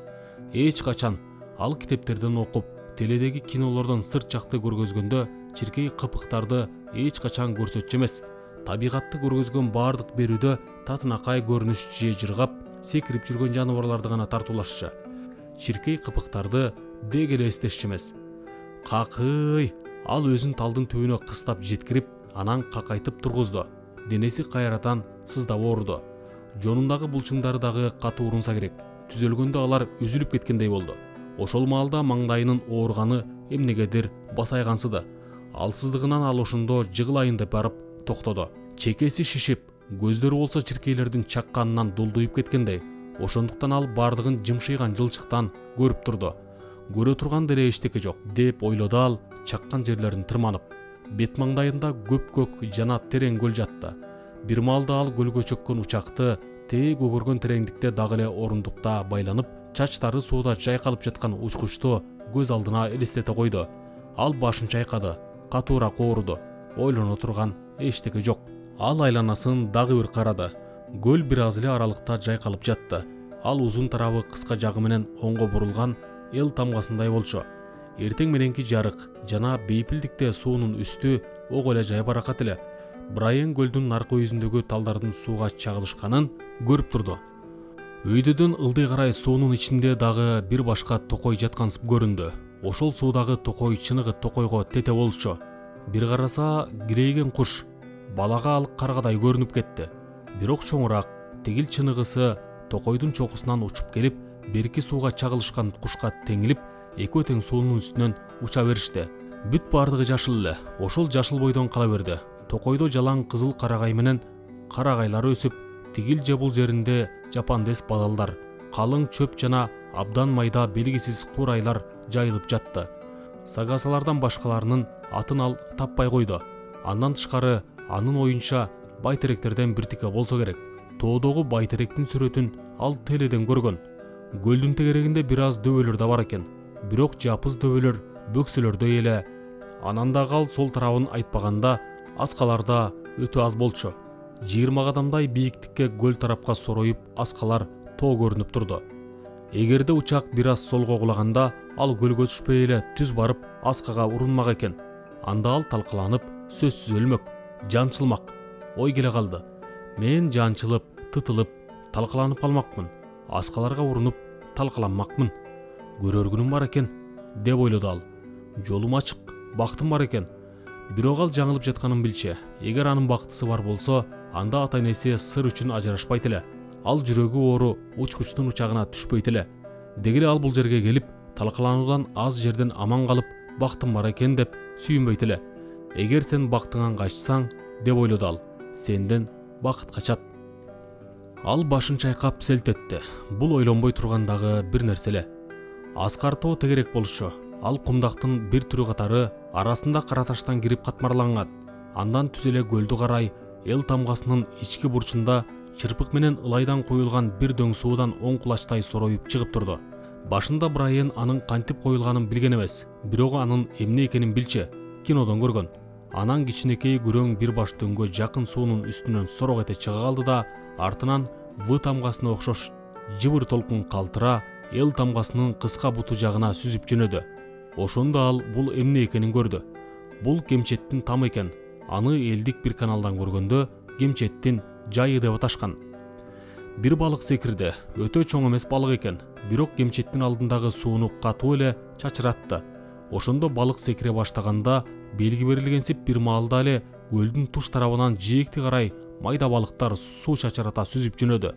Эч качан ал китептерден окуп, теледеги кинолордон сырт жакты көргөзгөндө чиркей кыпыктарды эч качан көрсөтчү эмес. Табигатты көргөзгөн баардык берүүдө татынакай көрүнүш же жыргап, секирип жүргөн жаныбарларды гана тартуулашчы. Чиркей кыпыктарды дег эле эстешчү эмес. Какый! Ал өзүн талдын түбүнө кыстап жеткирип, анан какайтып тургузду. Денеси кайрадан сыздап ооруду. Жонундагы булчуңдары дагы катуу урунса керек. Түзөлгөндө алар үзүлүп кеткендей болду. Ошол маалда маңдайынын ооруганы эмнегедир басайгансыды. Алсыздыгынан ал ошондо жыгылайын деп барып токтоду. Чекеси шишип, көздөрү болсо чиркейлердин чакканынан дулдуйуп кеткендей. Ошондуктан ал баардыгын жымшыйган жылчыктан көрүп турду. Көрө турган деле эчтеке жок, деп ойлоду ал, чаккан жерлерин тырманып. Бет маңдайында көк жана терең көл жатты. Бир маалда ал көлгө чөккөн учакты тээ көгөргөн тереңдикте дагы эле орундукта байланып, чачтары сууда жайкалып жаткан учкучту көз алдына элестете койду. Ал башын чайкады, катуураак ооруду. Ойлоно турган эчтеке жок. Ал айланасын дагы бир карады. Көл бир аз эле аралыкта жайкалып жатты. Ал узун тарабы кыска жагы менен оңго бурулган эл тамгасындай болчу. эртең мененки жарык жана бейпилдикте суунун үстү ого эле жайбаракат эле. Брайан көлдүн наркы өзүндөгү талдардын сууга чагылышканын көрүп турду. Өйдөдөн ылдый карай суунун ичинде дагы бир башка токой жаткансып көрүндү. Ошол суудагы токой чыныгы токойго тете болчу. Бир караса кирейген куш, балага ал каргадай көрүнүп кетти. Бирок чоңураак, тигил чыныгысы токойдун чокусунан учуп келип, берки сууга чагылышкан кушка теңилип, экөө тең суунун үстүнөн уча беришти. Бүт бардыгы жашыл эле. Ошол жашыл бойдон кала берди. Токойдо жалаң кызыл карагай менен карагайлар өсүп, тигил же бул жеринде жапандес бадалдар, калың чөп жана абдан майда белгисиз курайлар жайылып жатты. Сагасалардан башкаларынын атын ал таппай койду. Андан тышкары анын оюнча байтеректерден биртике болсо керек. Тоодогу байтеректин сүрөтүн ал теледен көргөн. Көлдүн тегерегинде бир аз дөбөлөр да бар экен. Бирок жапыз дөбөлөр бөксөлөрдөй эле. Анан дагы ал сол тарабын айтпаганда аскаларда өтө аз болчу. 20 кадамдай бийиктикке көл тарапка сороюп аскалар тоо көрүнүп турду. Эгерде учак бир аз солго кулаганда, ал көлгө түшпөй эле түз барып аскага урунмак экен. Анда ал талкаланып, сөзсүз өлмөк, жанчылмак. Ой келе калды. Мен жанчылып, тытылып, талкаланып калмакмын. Аскаларга урунуп, талкаланмакмын. Көрөр күнүм бар экен, деп ойлоду ал. Жолум ачык, бактым бар экен. Бирок ал жаңылып жатканын билчү. Эгер анын бактысы бар болсо, анда ата-энеси сыр үчүн ажырашпайт эле. Ал жүрөгү оору учкучтун учагына түшпөйт эле. Дегеле ал бул жерге келип, талкалануудан аз жерден аман калып, бактым бар экен деп сүйүнбөйт эле. Эгер сен бактыңан качсаң, деп ойлоду ал, сенден бакыт качат. Ал башын чайкап селт этти. Бул ойлонбой тургандагы бир нерсе эле. Аскар тоо тегерек болчу. Ал кумдактын бир түрү катары арасында кара таштан кирип катмарланган. Андан түз эле көлдү карай эл тамгасынын ички бурчунда чырпык менен ылайдан коюлган бир дөң суудан оң кулачтай сороюп чыгып турду. Башында Брайан анын кантип коюлганын билген эмес, бирок анын эмне экенин билчү, кинодон көргөн. Анан кичинекей күрөң бир баш дөңгө жакын суунун үстүнөн сорок эте чыга калды да, артынан В тамгасына окшош жыбыр толкун калтыра эл тамгасынын кыска буту жагына сүзүп жөнөдү. Ошондо ал бул эмне экенин көрдү. Бул кемчеттин тамы экен. Аны элдик бир каналдан көргөндө кемчеттин жайы деп аташкан. Бир балык секирди. Өтө чоң эмес балык экен, бирок кемчеттин алдындагы сууну катуу эле чачыратты. Ошондо балык секире баштаганда белги берилгенсип бир маалда эле көлдүн туш тарабынан жээкти карай майда балыктар суу чачырата сүзүп жөнөдү.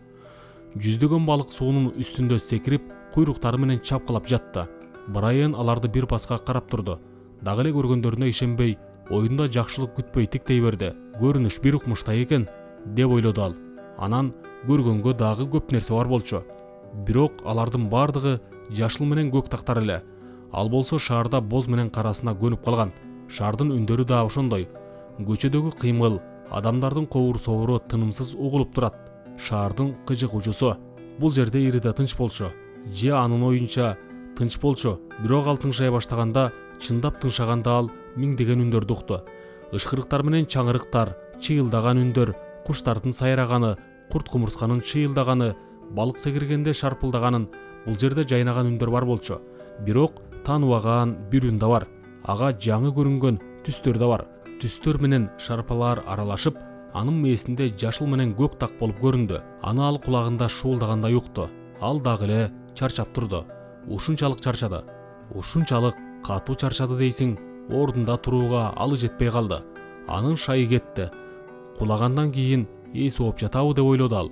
Жүздөгөн балык суунун үстүндө секирип, куйруктары менен чапкылап жатты. Брайан аларды бир паска карап турду. Дагы эле көргөндөрүнө ишенбей, оюнда жакшылык күтпөй тиктей берди. Көрүнүш бир укмуштай экен, деп ойлоду ал. Анан көргөнгө дагы көп нерсе бар болчу. Бирок алардын бардыгы жашыл менен көк тактар эле. Ал болсо шаарда боз менен карасына көнүп калган. Шаардын үндөрү да ошондой. Көчөдөгү кыймыл, адамдардын кобур собуру тынымсыз угулуп турат. Шаардын кыжык учусу. Бул жерде ириде тынч болчу. Же анын оюнча тынч болчу, бирок ал тыңшай баштаганда, чындап тыңшаганда ал миңдеген үндөрдү укту. Ышкырыктар менен чаңырыктар, чыйылдаган үндөр, куштардын сайраганы, курт кумурсканын чыйылдаганы, балык секиргенде шарпылдаганын, бул жерде жайнаган үндөр бар болчу. Бирок тааныбаган бир үн да бар. Ага жаңы көрүнгөн түстөр да бар. Түстөр менен шарпалар аралашып, анын мээсинде жашыл менен көк так болуп көрүндү. Аны ал кулагында шуулдагандай укту. Ал дагы эле чарчап турду. Ушунчалык чарчады. Ушунчалык катуу чарчады дейсиң, ордунда турууга алы жетпей калды. Анын шайы кетти. Кулагандан кийин эси ооп жатабы деп ойлоду ал.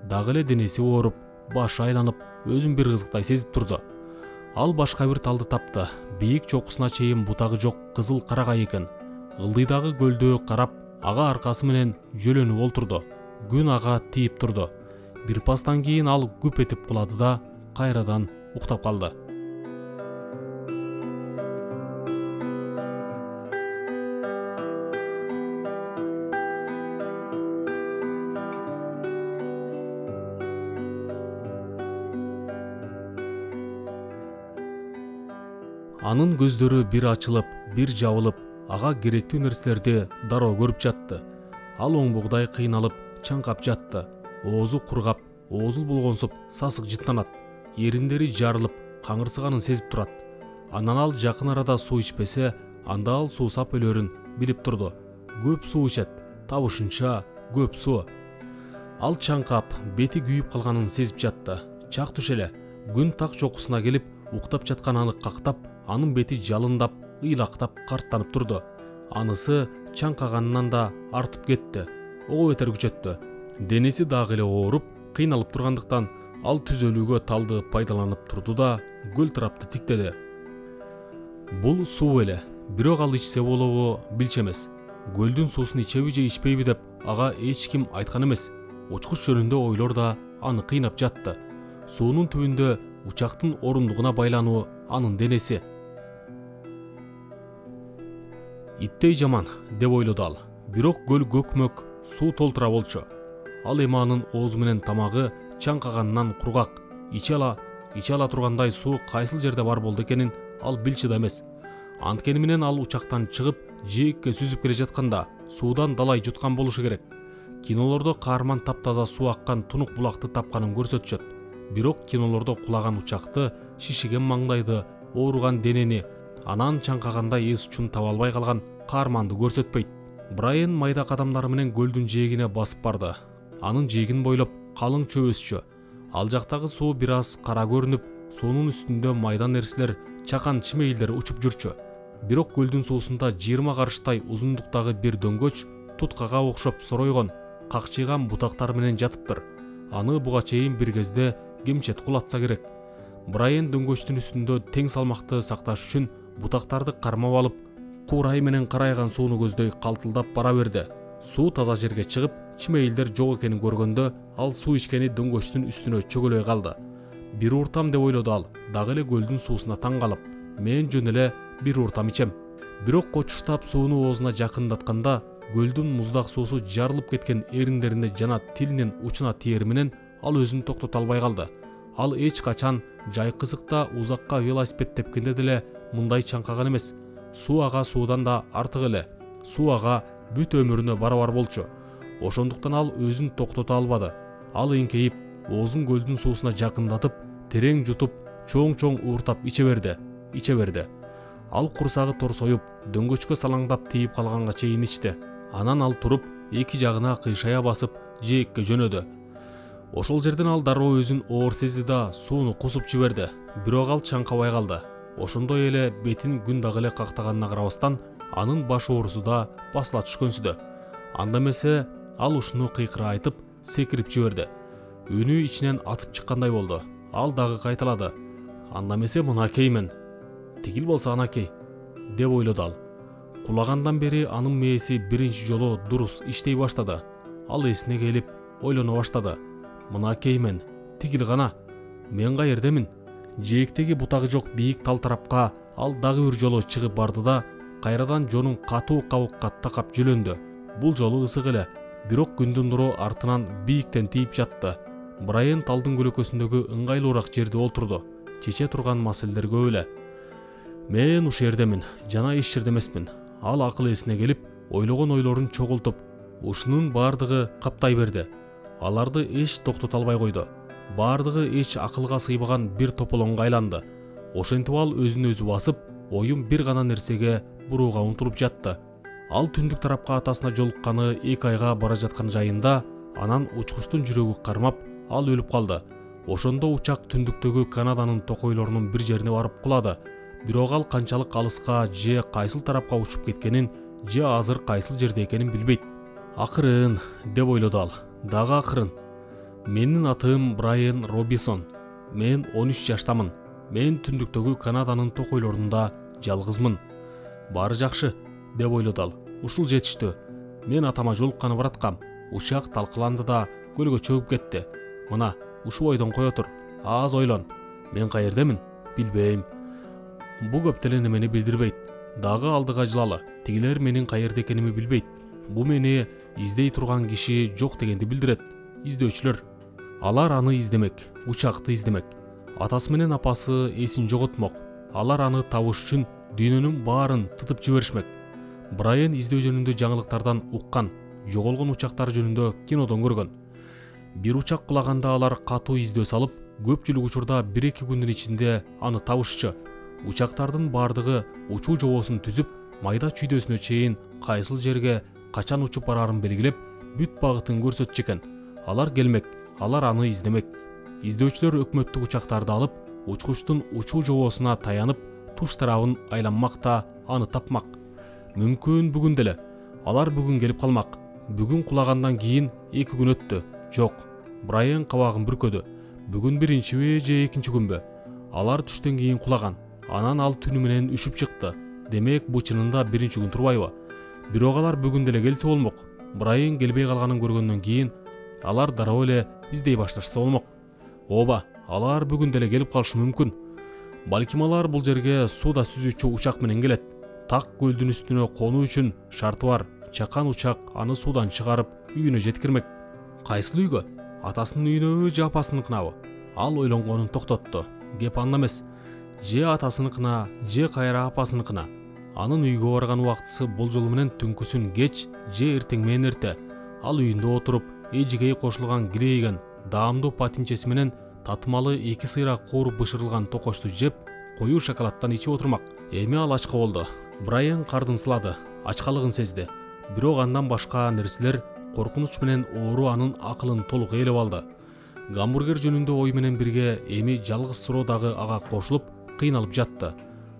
Дагы эле денеси ооруп, башы айланып, өзүн бир кызыктай сезип турду. Ал башка бир талды тапты. Бийик чокусуна чейин бутагы жок кызыл карагай экен. Ылдыйдагы көлдө карап, ага аркасы менен жөлөнүп олтурду. Күн ага тийип турду. Бир пастан кийин ал күп этип кулады да кайрадан уктап калды. Анын көздөрү бир ачылып, бир жабылып, ага керектүү нерселерди дароо көрүп жатты. Ал оңбогдай кыйналып, чаңкап жатты. Оозу кургап, оозул болгонсуп сасык жыттанат. Эриндери жарылып, каңырсыганын сезип турат. Анан ал жакын арада суу ичпесе, анда ал суусап өлөрүн билип турду. Көп суу ичет, табышынча көп суу. Ал чаңкап, бети күйүп калганын сезип жатты. Чак түш эле күн так жокусуна келип, уктап жаткан аны кактап, анын бети жалындап, ыйлактап, карттанып турду. Анысы чаңкаганынан да артып кетти. Ого бетер күчөттү. Денеси дагы эле ооруп, кыйналып тургандыктан ал түзөлүүгө талды пайдаланып турду да көл тарапты тиктеди. Бул суу эле, бирок ал ичсе болобу билчү эмес. Көлдүн суусун ичеби же ичпейби деп ага эч ким айткан эмес. Учкуч жөнүндө ойлор да аны кыйнап жатты. Суунун түбүндө учактын орундугуна байлануу анын денеси. Иттей жаман деп ойлоду ал. Бирок көл көкмөк суу толтура болчу. Ал эми анын оозу менен тамагы чаңкаганынан кургак, иче ала тургандай суу кайсыл жерде бар болду экенин ал билчү да эмес. Анткени менен ал учактан чыгып, жээкке сүзүп келе жатканда суудан далай жуткан болушу керек. Кинолордо каарман таптаза суу аккан тунук булакты тапканын көрсөтүшөт. Бирок кинолордо кулаган учакты, шишиген маңдайды, ооруган денени, анан чаңкагандай эс учун таба албай калган каарманды көрсөтпөйт. Брайан майда кадамдары менен көлдүн жээгине басып барды. Анын жээгин бойлоп калың чөп өсчү. Ал жактагы суу бир аз кара көрүнүп, суунун үстүндө майда нерселер, чакан чимейлдер учуп жүрчү. Бирок көлдүн суусунда 20 карыштай узундуктагы бир дөңгөч туткага окшоп соройгон, какчыйган бутактар менен жатыптыр. Аны буга чейин бир кезде кемчет кулатса керек. Брайан дөңгөчтүн үстүндө тең салмакты сакташ үчүн бутактарды кармап алып, курай менен карайган сууну көздөй калтылдап бара берди. Суу таза жерге чыгып, чимейлдер жок экенин көргөндө, ал суу ичкени дөңгөчтүн үстүнө чөгөлөй калды. Бир уртам деп ойлоду ал, дагы эле көлдүн суусуна таң калып. Мен жөн эле бир уртам ичем. Бирок кочуштап сууну оозуна жакындатканда, көлдүн муздак суусу жарылып кеткен эриндерине жана тилинин учуна тиер менен ал өзүн токтото албай калды. Ал эч качан жай кызыкта узакка велосипед тепкенде деле мындай чаңкаган эмес. Суу ага суудан да артык эле. Суу ага бүт өмүрүнө барабар болчу. Ошондуктан ал өзүн токтото албады. Ал эңкейип, оозун көлдүн суусуна жакындатып, терең жутуп, чоң-чоң ууртап иче берди. Ал курсагы торсоюп, дөңгөчкө салаңдап тийип калганга чейин ичти. Анан ал туруп, эки жагына кыйшая басып, жээкке жөнөдү. Ошол жерден ал дароо өзүн оор сезди да сууну кусуп жиберди. Бирок ал чаңкабай калды. Ошондой эле бетин күн дагы эле кактаганына карабастан, анын баш оорусу да басыла түшкөнсүдө. Анда эмесе ал ушуну кыйкыра айтып, секирип жиберди. Үнү ичинен атып чыккандай болду. Ал дагы кайталады. Анда эмесе мынакеймен. Тигил болсо анакей, деп ойлоду ал. Кулагандан бери анын мээси биринчи жолу дурус иштей баштады. Ал эсине келип, ойлоно баштады. Мынакеймен, тигил гана. Мен каердемин? Жээктеги бутагы жок бийик тал тарапка ал дагы бир жолу чыгып барды да, кайрадан жонун катуу кабыкка такап жүлөндү. Бул жолу ысык эле, бирок күндүн нуру артынан бийиктен тийип жатты. Брайан талдын көлөкөсүндөгү ыңгайлуураак жерде олтурду. Чече турган маселелер көп эле. Мен ушул жердемин, жана эч жерде эмесмин. Ал акыл эсине келип, ойлогон ойлорун чогултуп, ушунун баардыгы каптай берди. Аларды эч токтото албай койду. Баардыгы эч акылга сыйбаган бир тополоңго айланды. Ошентип ал өзүн өзү басып, оюн бир гана нерсеге бурууга умтулуп жатты. Ал түндүк тарапка атасына жолукканы 2 айга бара жаткан жайында, анан учкучтун жүрөгү кармап, ал өлүп калды. Ошондо учак түндүктөгү Канаданын токойлорунун бир жерине барып кулады. Бирок ал канчалык алыска же кайсыл тарапка учуп кеткенин, же азыр кайсыл жерде экенин билбейт. Акырын, деп ойлоду ал. Дагы акырын. Менин атым Брайан Робинсон. Мен 13 жаштамын. Мен түндүктөгү Канаданын токойлорунда жалгызмын. Баары жакшы, деп ойлоду ал. Ушул жетиштүү. Мен атама жолукканы бараткам. Учак талкаланды да көлгө чөгүп кетти. Мына, ушу бойдон кое тур. Аз ойлон. Мен каердемин? Билбейм. Бу көп деле немени билдирбейт. Дагы алдыга жылалы. Тигилер менин каерде экенимди билбейт. Бу мени издей турган киши жок дегенди билдирет. Издөөчүлөр. Алар аны издемек, учакты издемек. Атасы менен апасы эсин жоготмок. Алар аны табыш үчүн дүйнөнүн баарын тытып жиберишмек. Брайан издөө жөнүндө жаңылыктардан уккан, жоголгон учактар жөнүндө кинодон көргөн. Бир учак кулаганда алар катуу издөө салып, көпчүлүк учурда 1-2 күндүн ичинде аны табышчу. Учактардын бардыгы учуу жобосун түзүп, майда чүйдөсүнө чейин кайсыл жерге качан учуп барарын белгилеп, бүт багытын көрсөтчү экен. Алар келмек, алар аны издемек. Издөөчүлөр өкмөттүк учактарды алып, учкучтун учуу жобосуна таянып, туш тарабын айланмак да аны тапмак. Мүмкүн бүгүн деле. Алар бүгүн келип калмак. Бүгүн кулагандан кийин 2 күн өттү. Жок. Брайан кабагын бүркөдү. Бүгүн биринчиби же экинчи күнбү? Алар түштөн кийин кулаган. Анан ал түнү менен үшүп чыкты. Демек, бу чынында биринчи күн турбайбы? Бирок алар бүгүн деле келсе болмок. Брайан келбей калганын көргөндөн кийин алар дароо эле издей башташса болмок. Ооба, алар бүгүн деле келип калышы мүмкүн. Балким алар бул жерге сууда сүзүүчү учак менен келет. Так көлдүн үстүнө конуу үчүн шарты бар. Чакан учак аны суудан чыгарып, үйүнө жеткирмек. Кайсыл үйгө? Атасынын үйүнөбү же апасыныкынабы? Ал ойлонгонун токтотту. Кеп анда эмес. Же атасыныкына, же кайра апасыныкына. Анын үйгө барган убактысы болжол менен түнкүсүн кеч же эртең менен эрте. Ал үйүндө отуруп, эжигей кошулган кирейген, даамдуу патинчеси менен татымалы 2 сыйрак кууруп бышырылган токочту жеп, коюу шоколадтан ичип отурмак. Эми ал ачка болду. Брайан кардын сылады, ачкалыгын сезди. Бирок андан башка нерселер коркунуч менен оору анын акылын толук ээлеп алды. Гамбургер жөнүндө ой менен бирге эми жалгыз суроо дагы ага кошулуп, кыйналып жатты.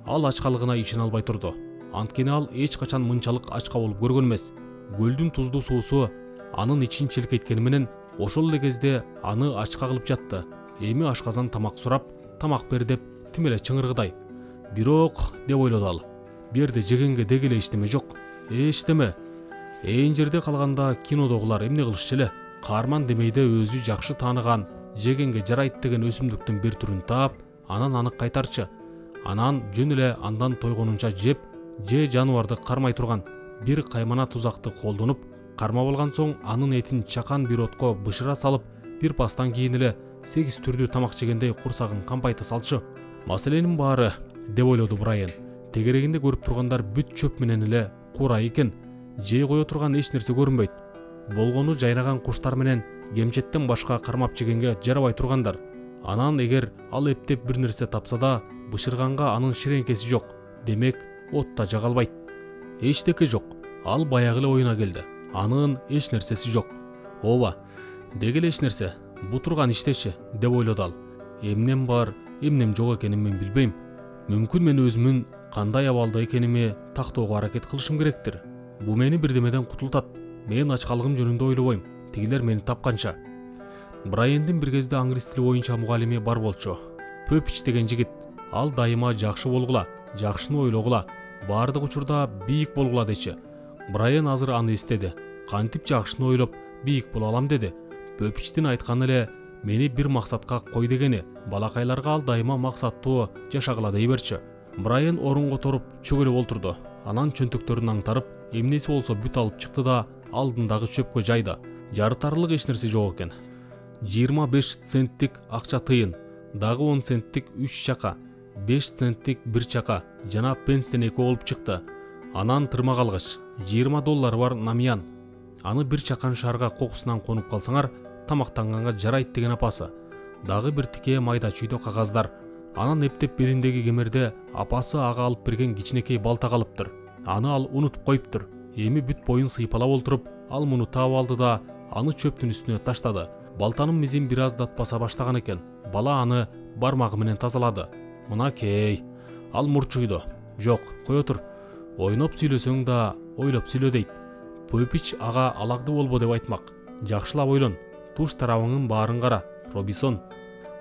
Ал ачкалыгына ишене албай турду. Анткени ал эч качан мынчалык ачка болуп көргөн эмес. Көлдүн туздуу суусу анын ичин челкейткени менен ошол эле кезде аны ачка кылып жатты. Эми ашказан тамак сурап, тамак бер деп тим эле чыңыргыдай. Бирок, деп ойлоду ал, бу жерде жегенге деги эле эчтеме жок. Эчтеме. Ээн жерде калганда кинодогулар эмне кылышчу эле? Каарман демейде өзү жакшы тааныган, жегенге жарайт деген өсүмдүктүн бир түрүн таап, анан аны кайтарчы. Анан жөн эле андан тойгонунча жеп, же жаныбарды кармай турган бир каймана тузакты колдонуп, кармап алган соң анын этин чакан бир отко бышыра салып, бир пастан кийин эле 8 түрдүү тамак жегендей курсагын кампайта салчы. Маселенин баары, деп ойлоду Брайан. Тегерегинде көрүп тургандар бүт чөп менен эле курай экен. Жей кое турган эч нерсе көрүнбөйт. Болгону жайнаган куштар менен кемчеттен башка кармап жегенге жарабай тургандар. Анан эгер ал эптеп бир нерсе тапса да, бышырганга анын ширеңкеси жок. Демек, от да жага албайт. Эчтеке жок. Ал баягы эле оюна келди. Анын эч нерсеси жок. Ооба, деги эле эч нерсе. Бу турган иштечи, деп ойлоду ал. Эмнем бар, эмнем жок экенин мен билбейм. Мүмкүн мен өзүмүн кандай абалда экеними тактоого аракет кылышым керектир. Бу мени бирдемеден кутултат. Мен ачкалыгым жөнүндө ойлобойм. Тигилер мени тапканча. Брайандын бир кезде англис тили боюнча мугалими бар болчу. Пөпич деген жигит. Ал дайыма жакшы болгула, жакшыны ойлогула, баардык учурда бийик болгула дечи. Брайан азыр аны эстеди. Кантип жакшыны ойлоп, бийик боло алам деди. Пөпичтин айтканы эле мени бир максатка кой дегени. Балакайларга ал дайыма максаттуу жашагыла дей берчи. Брайан орунго торуп чөгөлөп олтурду. Анан чөнтөктөрүн аңтарып, эмнеси болсо бүт алып чыкты да алдындагы чөпкө жайды. Жарытарлык эч нерсе жок экен. 25 центтик акча тыйын, дагы 10 центтик 3 чака, 5 центтик 1 чака жана пенстен 2 болуп чыкты. Анан тырмак алгыч, $20 бар намиян. Аны бир чакан шаарга кокусунан конуп калсаңар, тамактанганга жарайт деген апасы. Дагы бир тике майда чүйдө кагаздар. Анан эптеп белиндеги кемерде апасы ага алып берген кичинекей балта калыптыр. Аны ал унутуп коюптур. Эми бүт боюн сыйпалап олтуруп, ал муну таап алды да аны чөптүн үстүнө таштады. Балтанын мизин бир аз датпаса баштаган экен. Бала аны бармагы менен тазалады. Мынакей. Ал мурчуйду. Жок, кое тур. Ойноп сүйлөсөң да ойлоп сүйлө дейт. Пөпич ага алагды болбо деп айтмак. Жакшылап ойлон. Туш тарабыңын баарын кара. Робинсон.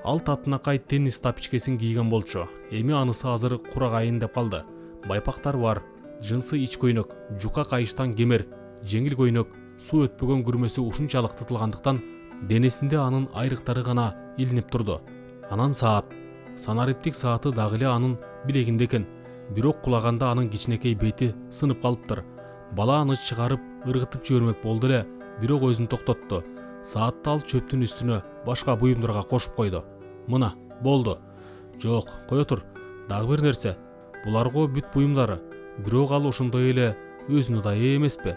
Ал татынакай теннис тапичкесин кийген болчу. Эми анысы азыр курагайын деп калды. Байпактар бар, жынсы ич көйнөк, жука кайыштан кемер, жеңил көйнөк, суу өтпөгөн күрмөсү ушунчалык тытылгандыктан денесинде анын айрыктары гана илинип турду. Анан саат. Санариптик сааты дагы эле анын билегинде экен. Бирок кулаганда анын кичинекей бети сынып калыптыр. Бала аны чыгарып, ыргытып жибермек болду эле, бирок өзүн токтотту. Саатты ал чөптүн үстүнө башка буюмдарга кошуп койду. Мына, болду. Жок, кое тур. Дагы бир нерсе. Буларго бүт буюмдары. Бирок ал ошондой эле өзүнө да ээ эмеспи?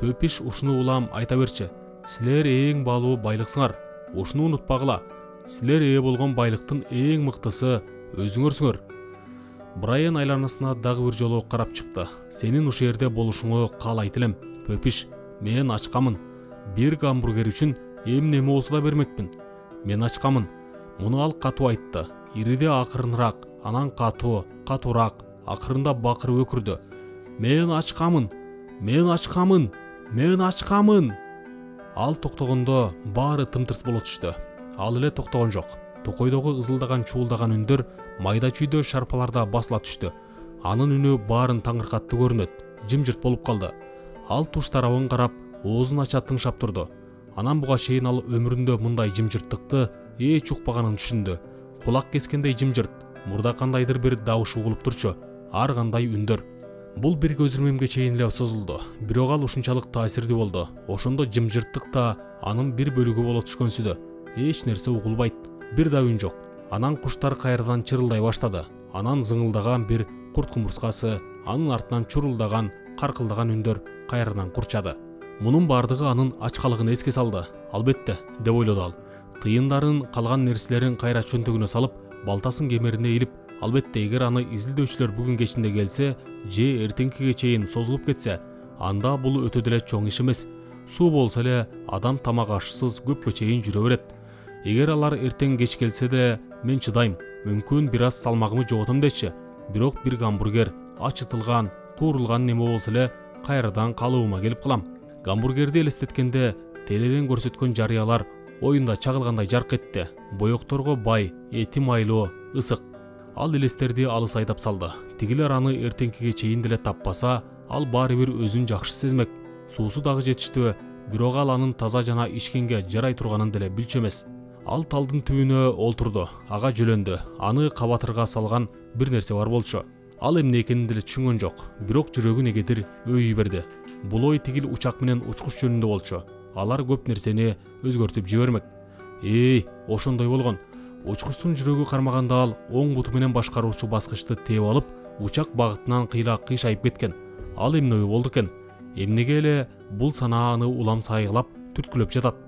Пөпиш ушуну улам айта берчи. Силер эң баалуу байлыксыңар. Ушуну унутпагыла. Силер ээ болгон байлыктын эң мыктысы өзүңөрсүңөр. Брайан айланасына дагы бир жолу карап чыкты. Сенин ушул жерде болушуңа каалайт элем. Пөпиш, мен ачкамын. Бир гамбургер үчүн эмне болсо да бермекмин. Мен ачкамын. Муну ал катуу айтты. Ириде акырыныраак, анан катуураак, акырында бакырып өкүрдү. Мен ачкамын. Мен ачкамын. Мен ачкамын. Ал токтогондо баары тымтырс боло түштү. Ал эле токтогон жок. Токойдогу ызылдаган чуулдаган үндөр майда чүйдө шарпаларда басыла түштү. Анын үнү баарын таңыркаттуу көрүнөт. Жымжырт болуп калды. Ал туш тарабын карап, оозун ача тыңшап турду. Анан буга чейин ал өмүрүндө мындай жымжырттыкты эч укпаганын түшүндү. Кулак кескендей жымжырт, мурда кандайдыр бир добуш угулуп турчу, ар кандай үндөр. Бул бир көзүрмемге чейин эле созулду. Бирок ал ушунчалык таасирдүү болду. Ошондо жымжырттык да анын бир бөлүгү боло түшкөнсүдө. Эч нерсе угулбайт. Бир да үн жок. Анан куштар кайрадан чырылдай баштады. Анан зыңылдаган бир курт кумурскасы, анын артынан чурулдаган, каркылдаган үндөр кайрадан курчады. Мунун бардыгы анын ачкалыгын эске салды. Албетте, деп ойлоду ал. Тыйындарын, калган нерселерин кайра чөнтөгүнө салып, балтасын кемерине илип, албетте эгер аны изилдөөчүлөр бүгүн кечинде келсе, же эртеңкиге чейин созулуп кетсе, анда бул өтө деле чоң иш эмес. Суу болсо эле адам тамак ашсыз көпкө чейин жүрө берет. Эгер алар эртең кеч келсе деле мен чыдайм, мүмкүн бир аз салмагымы жоготом дечи. Бирок бир гамбургер, ачытылган, куурулган неме болсо эле кайрадан калыбыма келип калам. Гамбургерди элестеткенде теледен көрсөткөн жарыялар оюнда чагылгандай жарк этти. Боекторго бай, эти майлуу, ысык. Ал элестерди алыс айдап салды. Тигилер аны эртеңкиге чейин деле таппаса, ал баары бир өзүн жакшы сезмек. Суусу дагы жетиштүү, бирок ал анын таза жана ичкенге жарай турганын деле билчү эмес. Ал талдын түбүнө олтурду, ага жөлөндү. Аны кабатырга салган бир нерсе бар болчу. Ал эмне экенин деле түшүнгөн жок, бирок жүрөгү негедир өйүй берди. Бул ой тигил учак менен учкуч жөнүндө болчу. Алар көп нерсени өзгөртүп жибермек. Ошондой болгон. Учкучтун жүрөгү кармаганда ал оң буту менен башкаруучу баскычты тээп алып, учак багытынан кыйшайып кеткен. Ал эмне ой болду экен? Эмнеге эле бул санааны улам сайгылап, түрткүлөп жатат?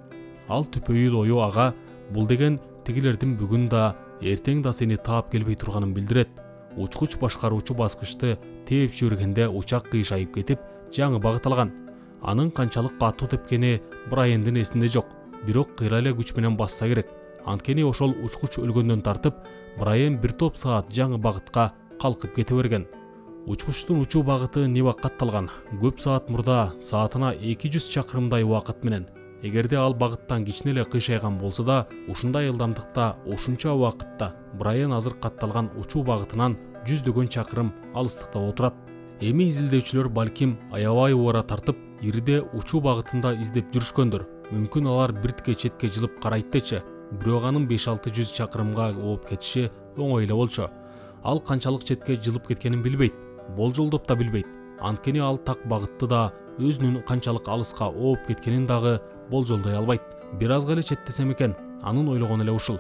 Ал түпөйүл ою ага бул деген тигилердин бүгүн да, эртең да сени таап келбей турганын билдирет. Учкуч башкаруучу баскычты тээп жибергенде учак кыйшайып кетип, жаңы багыт алган. Анын канчалык катуу тепкени Брайандын эсинде жок. Бирок кыйла эле күч менен басса керек. Анткени ошол учкуч өлгөндөн тартып, Брайан бир топ саат жаңы багытка калкып кете берген. Учкучтун учуу багыты Нивак катталган. Көп саат мурда саатына 200 чакырымдай убакыт менен. Эгерде ал багыттан кичине эле кыйшайган болсо да, ушундай ылдамдыкта, ушунча убакытта Брайан азыр катталган учуу багытынан жүздөгөн чакырым алыстыкта отурат. Эми изилдөөчүлөр балким аябай убара тартып, ириде учуу багытында издеп жүрүшкөндүр. Мүмкүн алар биртке четке жылып карайт дечи. Бирок анын 5-600 чакырымга ооп кетиши оңой эле болчу. Ал канчалык четке жылып кеткенин билбейт, болжолдоп да билбейт. Анткени ал так багытты да, өзүнүн канчалык алыска ооп кеткенин дагы болжолдой албайт. Бир азга эле четтесем экен, анын ойлогону эле ушул.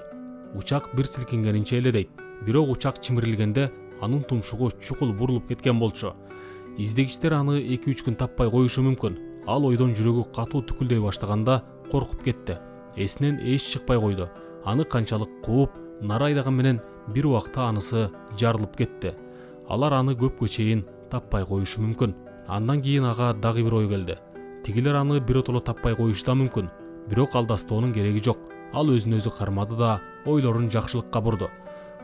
Учак бир силкингенинче эле дейт. Бирок учак чимирилгенде анын тумшугу чукул бурулуп кеткен болчу. Издегичтер аны 2-3 күн таппай коюшу мүмкүн. Ал ойдон жүрөгү катуу түкүлдөй баштаганда коркуп кетти. Эсинен эч чыкпай койду. Аны канчалык кууп, нара айдаган менен бир убакта анысы жарылып кетти. Алар аны көпкө чейин таппай коюшу мүмкүн. Андан кийин ага дагы бир ой келди. Тигилер аны биротоло таппай коюшу да мүмкүн. Бирок алдастоонун кереги жок. Ал өзүн өзү кармады да, ойлорун жакшылыкка бурду.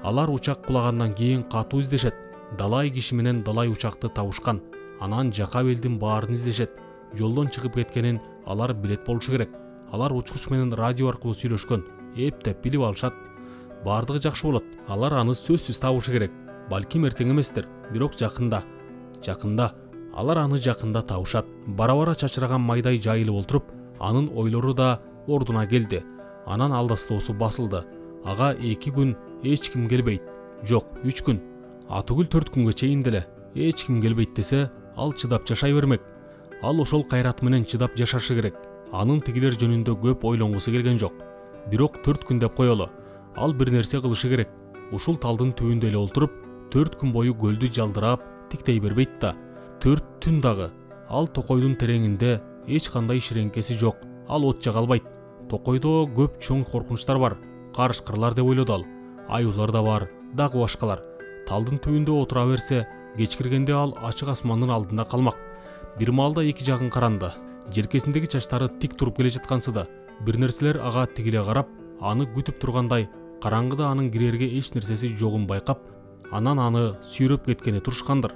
Алар учак кулагандан кийин катуу издешет. Далай киши менен далай учакты табышкан. Анан жака белдин баарын издешет. Жолдон чыгып кеткенин алар билет болушу керек. Алар учкуч менен радио аркылуу сүйлөшкөн. Эптеп билип алышат. Бардыгы жакшы болот. Алар аны сөзсүз табышы керек. Балким эртең эместир, бирок жакында. Алар аны жакында табышат. Бара-бара чачыраган майдай жайылып олтуруп, анын ойлору да ордуна келди. Анан алдастоосу басылды. Ага 2 күн эч ким келбейт. Жок, 3 күн. Атүгүл 4 күнгө чейин деле эч ким келбейт десе, ал чыдап жашай бермек. Ал ошол кайрат менен чыдап жашашы керек. Анын тигилер жөнүндө көп ойлонгусу келген жок. Бирок 4 күн деп коелу. Ал бир нерсе кылышы керек. Ушул талдын түбүндө эле олтуруп, 4 күн бою көлдү жалдырап, тиктей бербейт да. 4 түн дагы. Ал токойдун тереңинде эч кандай ширеңкеси жок. Ал от жага албайт. Токойдо көп чоң коркунучтар бар. Карышкырлар деп ойлоду ал. Аюулар да бар, дагы башкалар. талдын түбүндө отура берсе, кечкиргенде ал ачык асмандын алдында калмак. Бир маалда эки жагын каранды. Желкесиндеги чачтары тик туруп келе жаткансыда, бир нерселер ага тигиле карап, аны күтүп тургандай, караңгыда анын кирерге эч нерсеси жогун байкап, анан аны сүйрөп кеткени турушкандыр.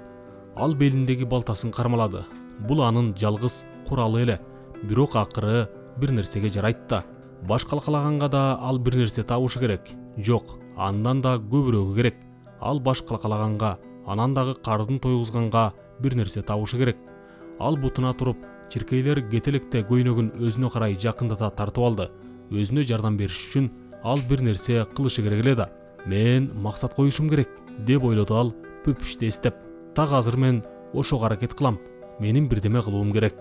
Ал белиндеги балтасын кармалады. Бул анын жалгыз куралы эле. Бирок акыры бир нерсеге жарайт да. Баш калкалаганга да ал бир нерсе табышы керек. Жок, андан да көбүрөгү керек. Ал баш калкалаганга, анан дагы кардын тойгузганга бир нерсе табышы керек. Ал бутуна туруп, чиркейлер кетелекте көйнөгүн өзүнө карай жакындата тартып алды. Өзүнө жардам бериш үчүн ал бир нерсе кылышы керек эле да. Мен максат коюшум керек, деп ойлоду ал пүпүштү эстеп. Так азыр мен ошого аракет кылам. Менин бирдеме кылуум керек.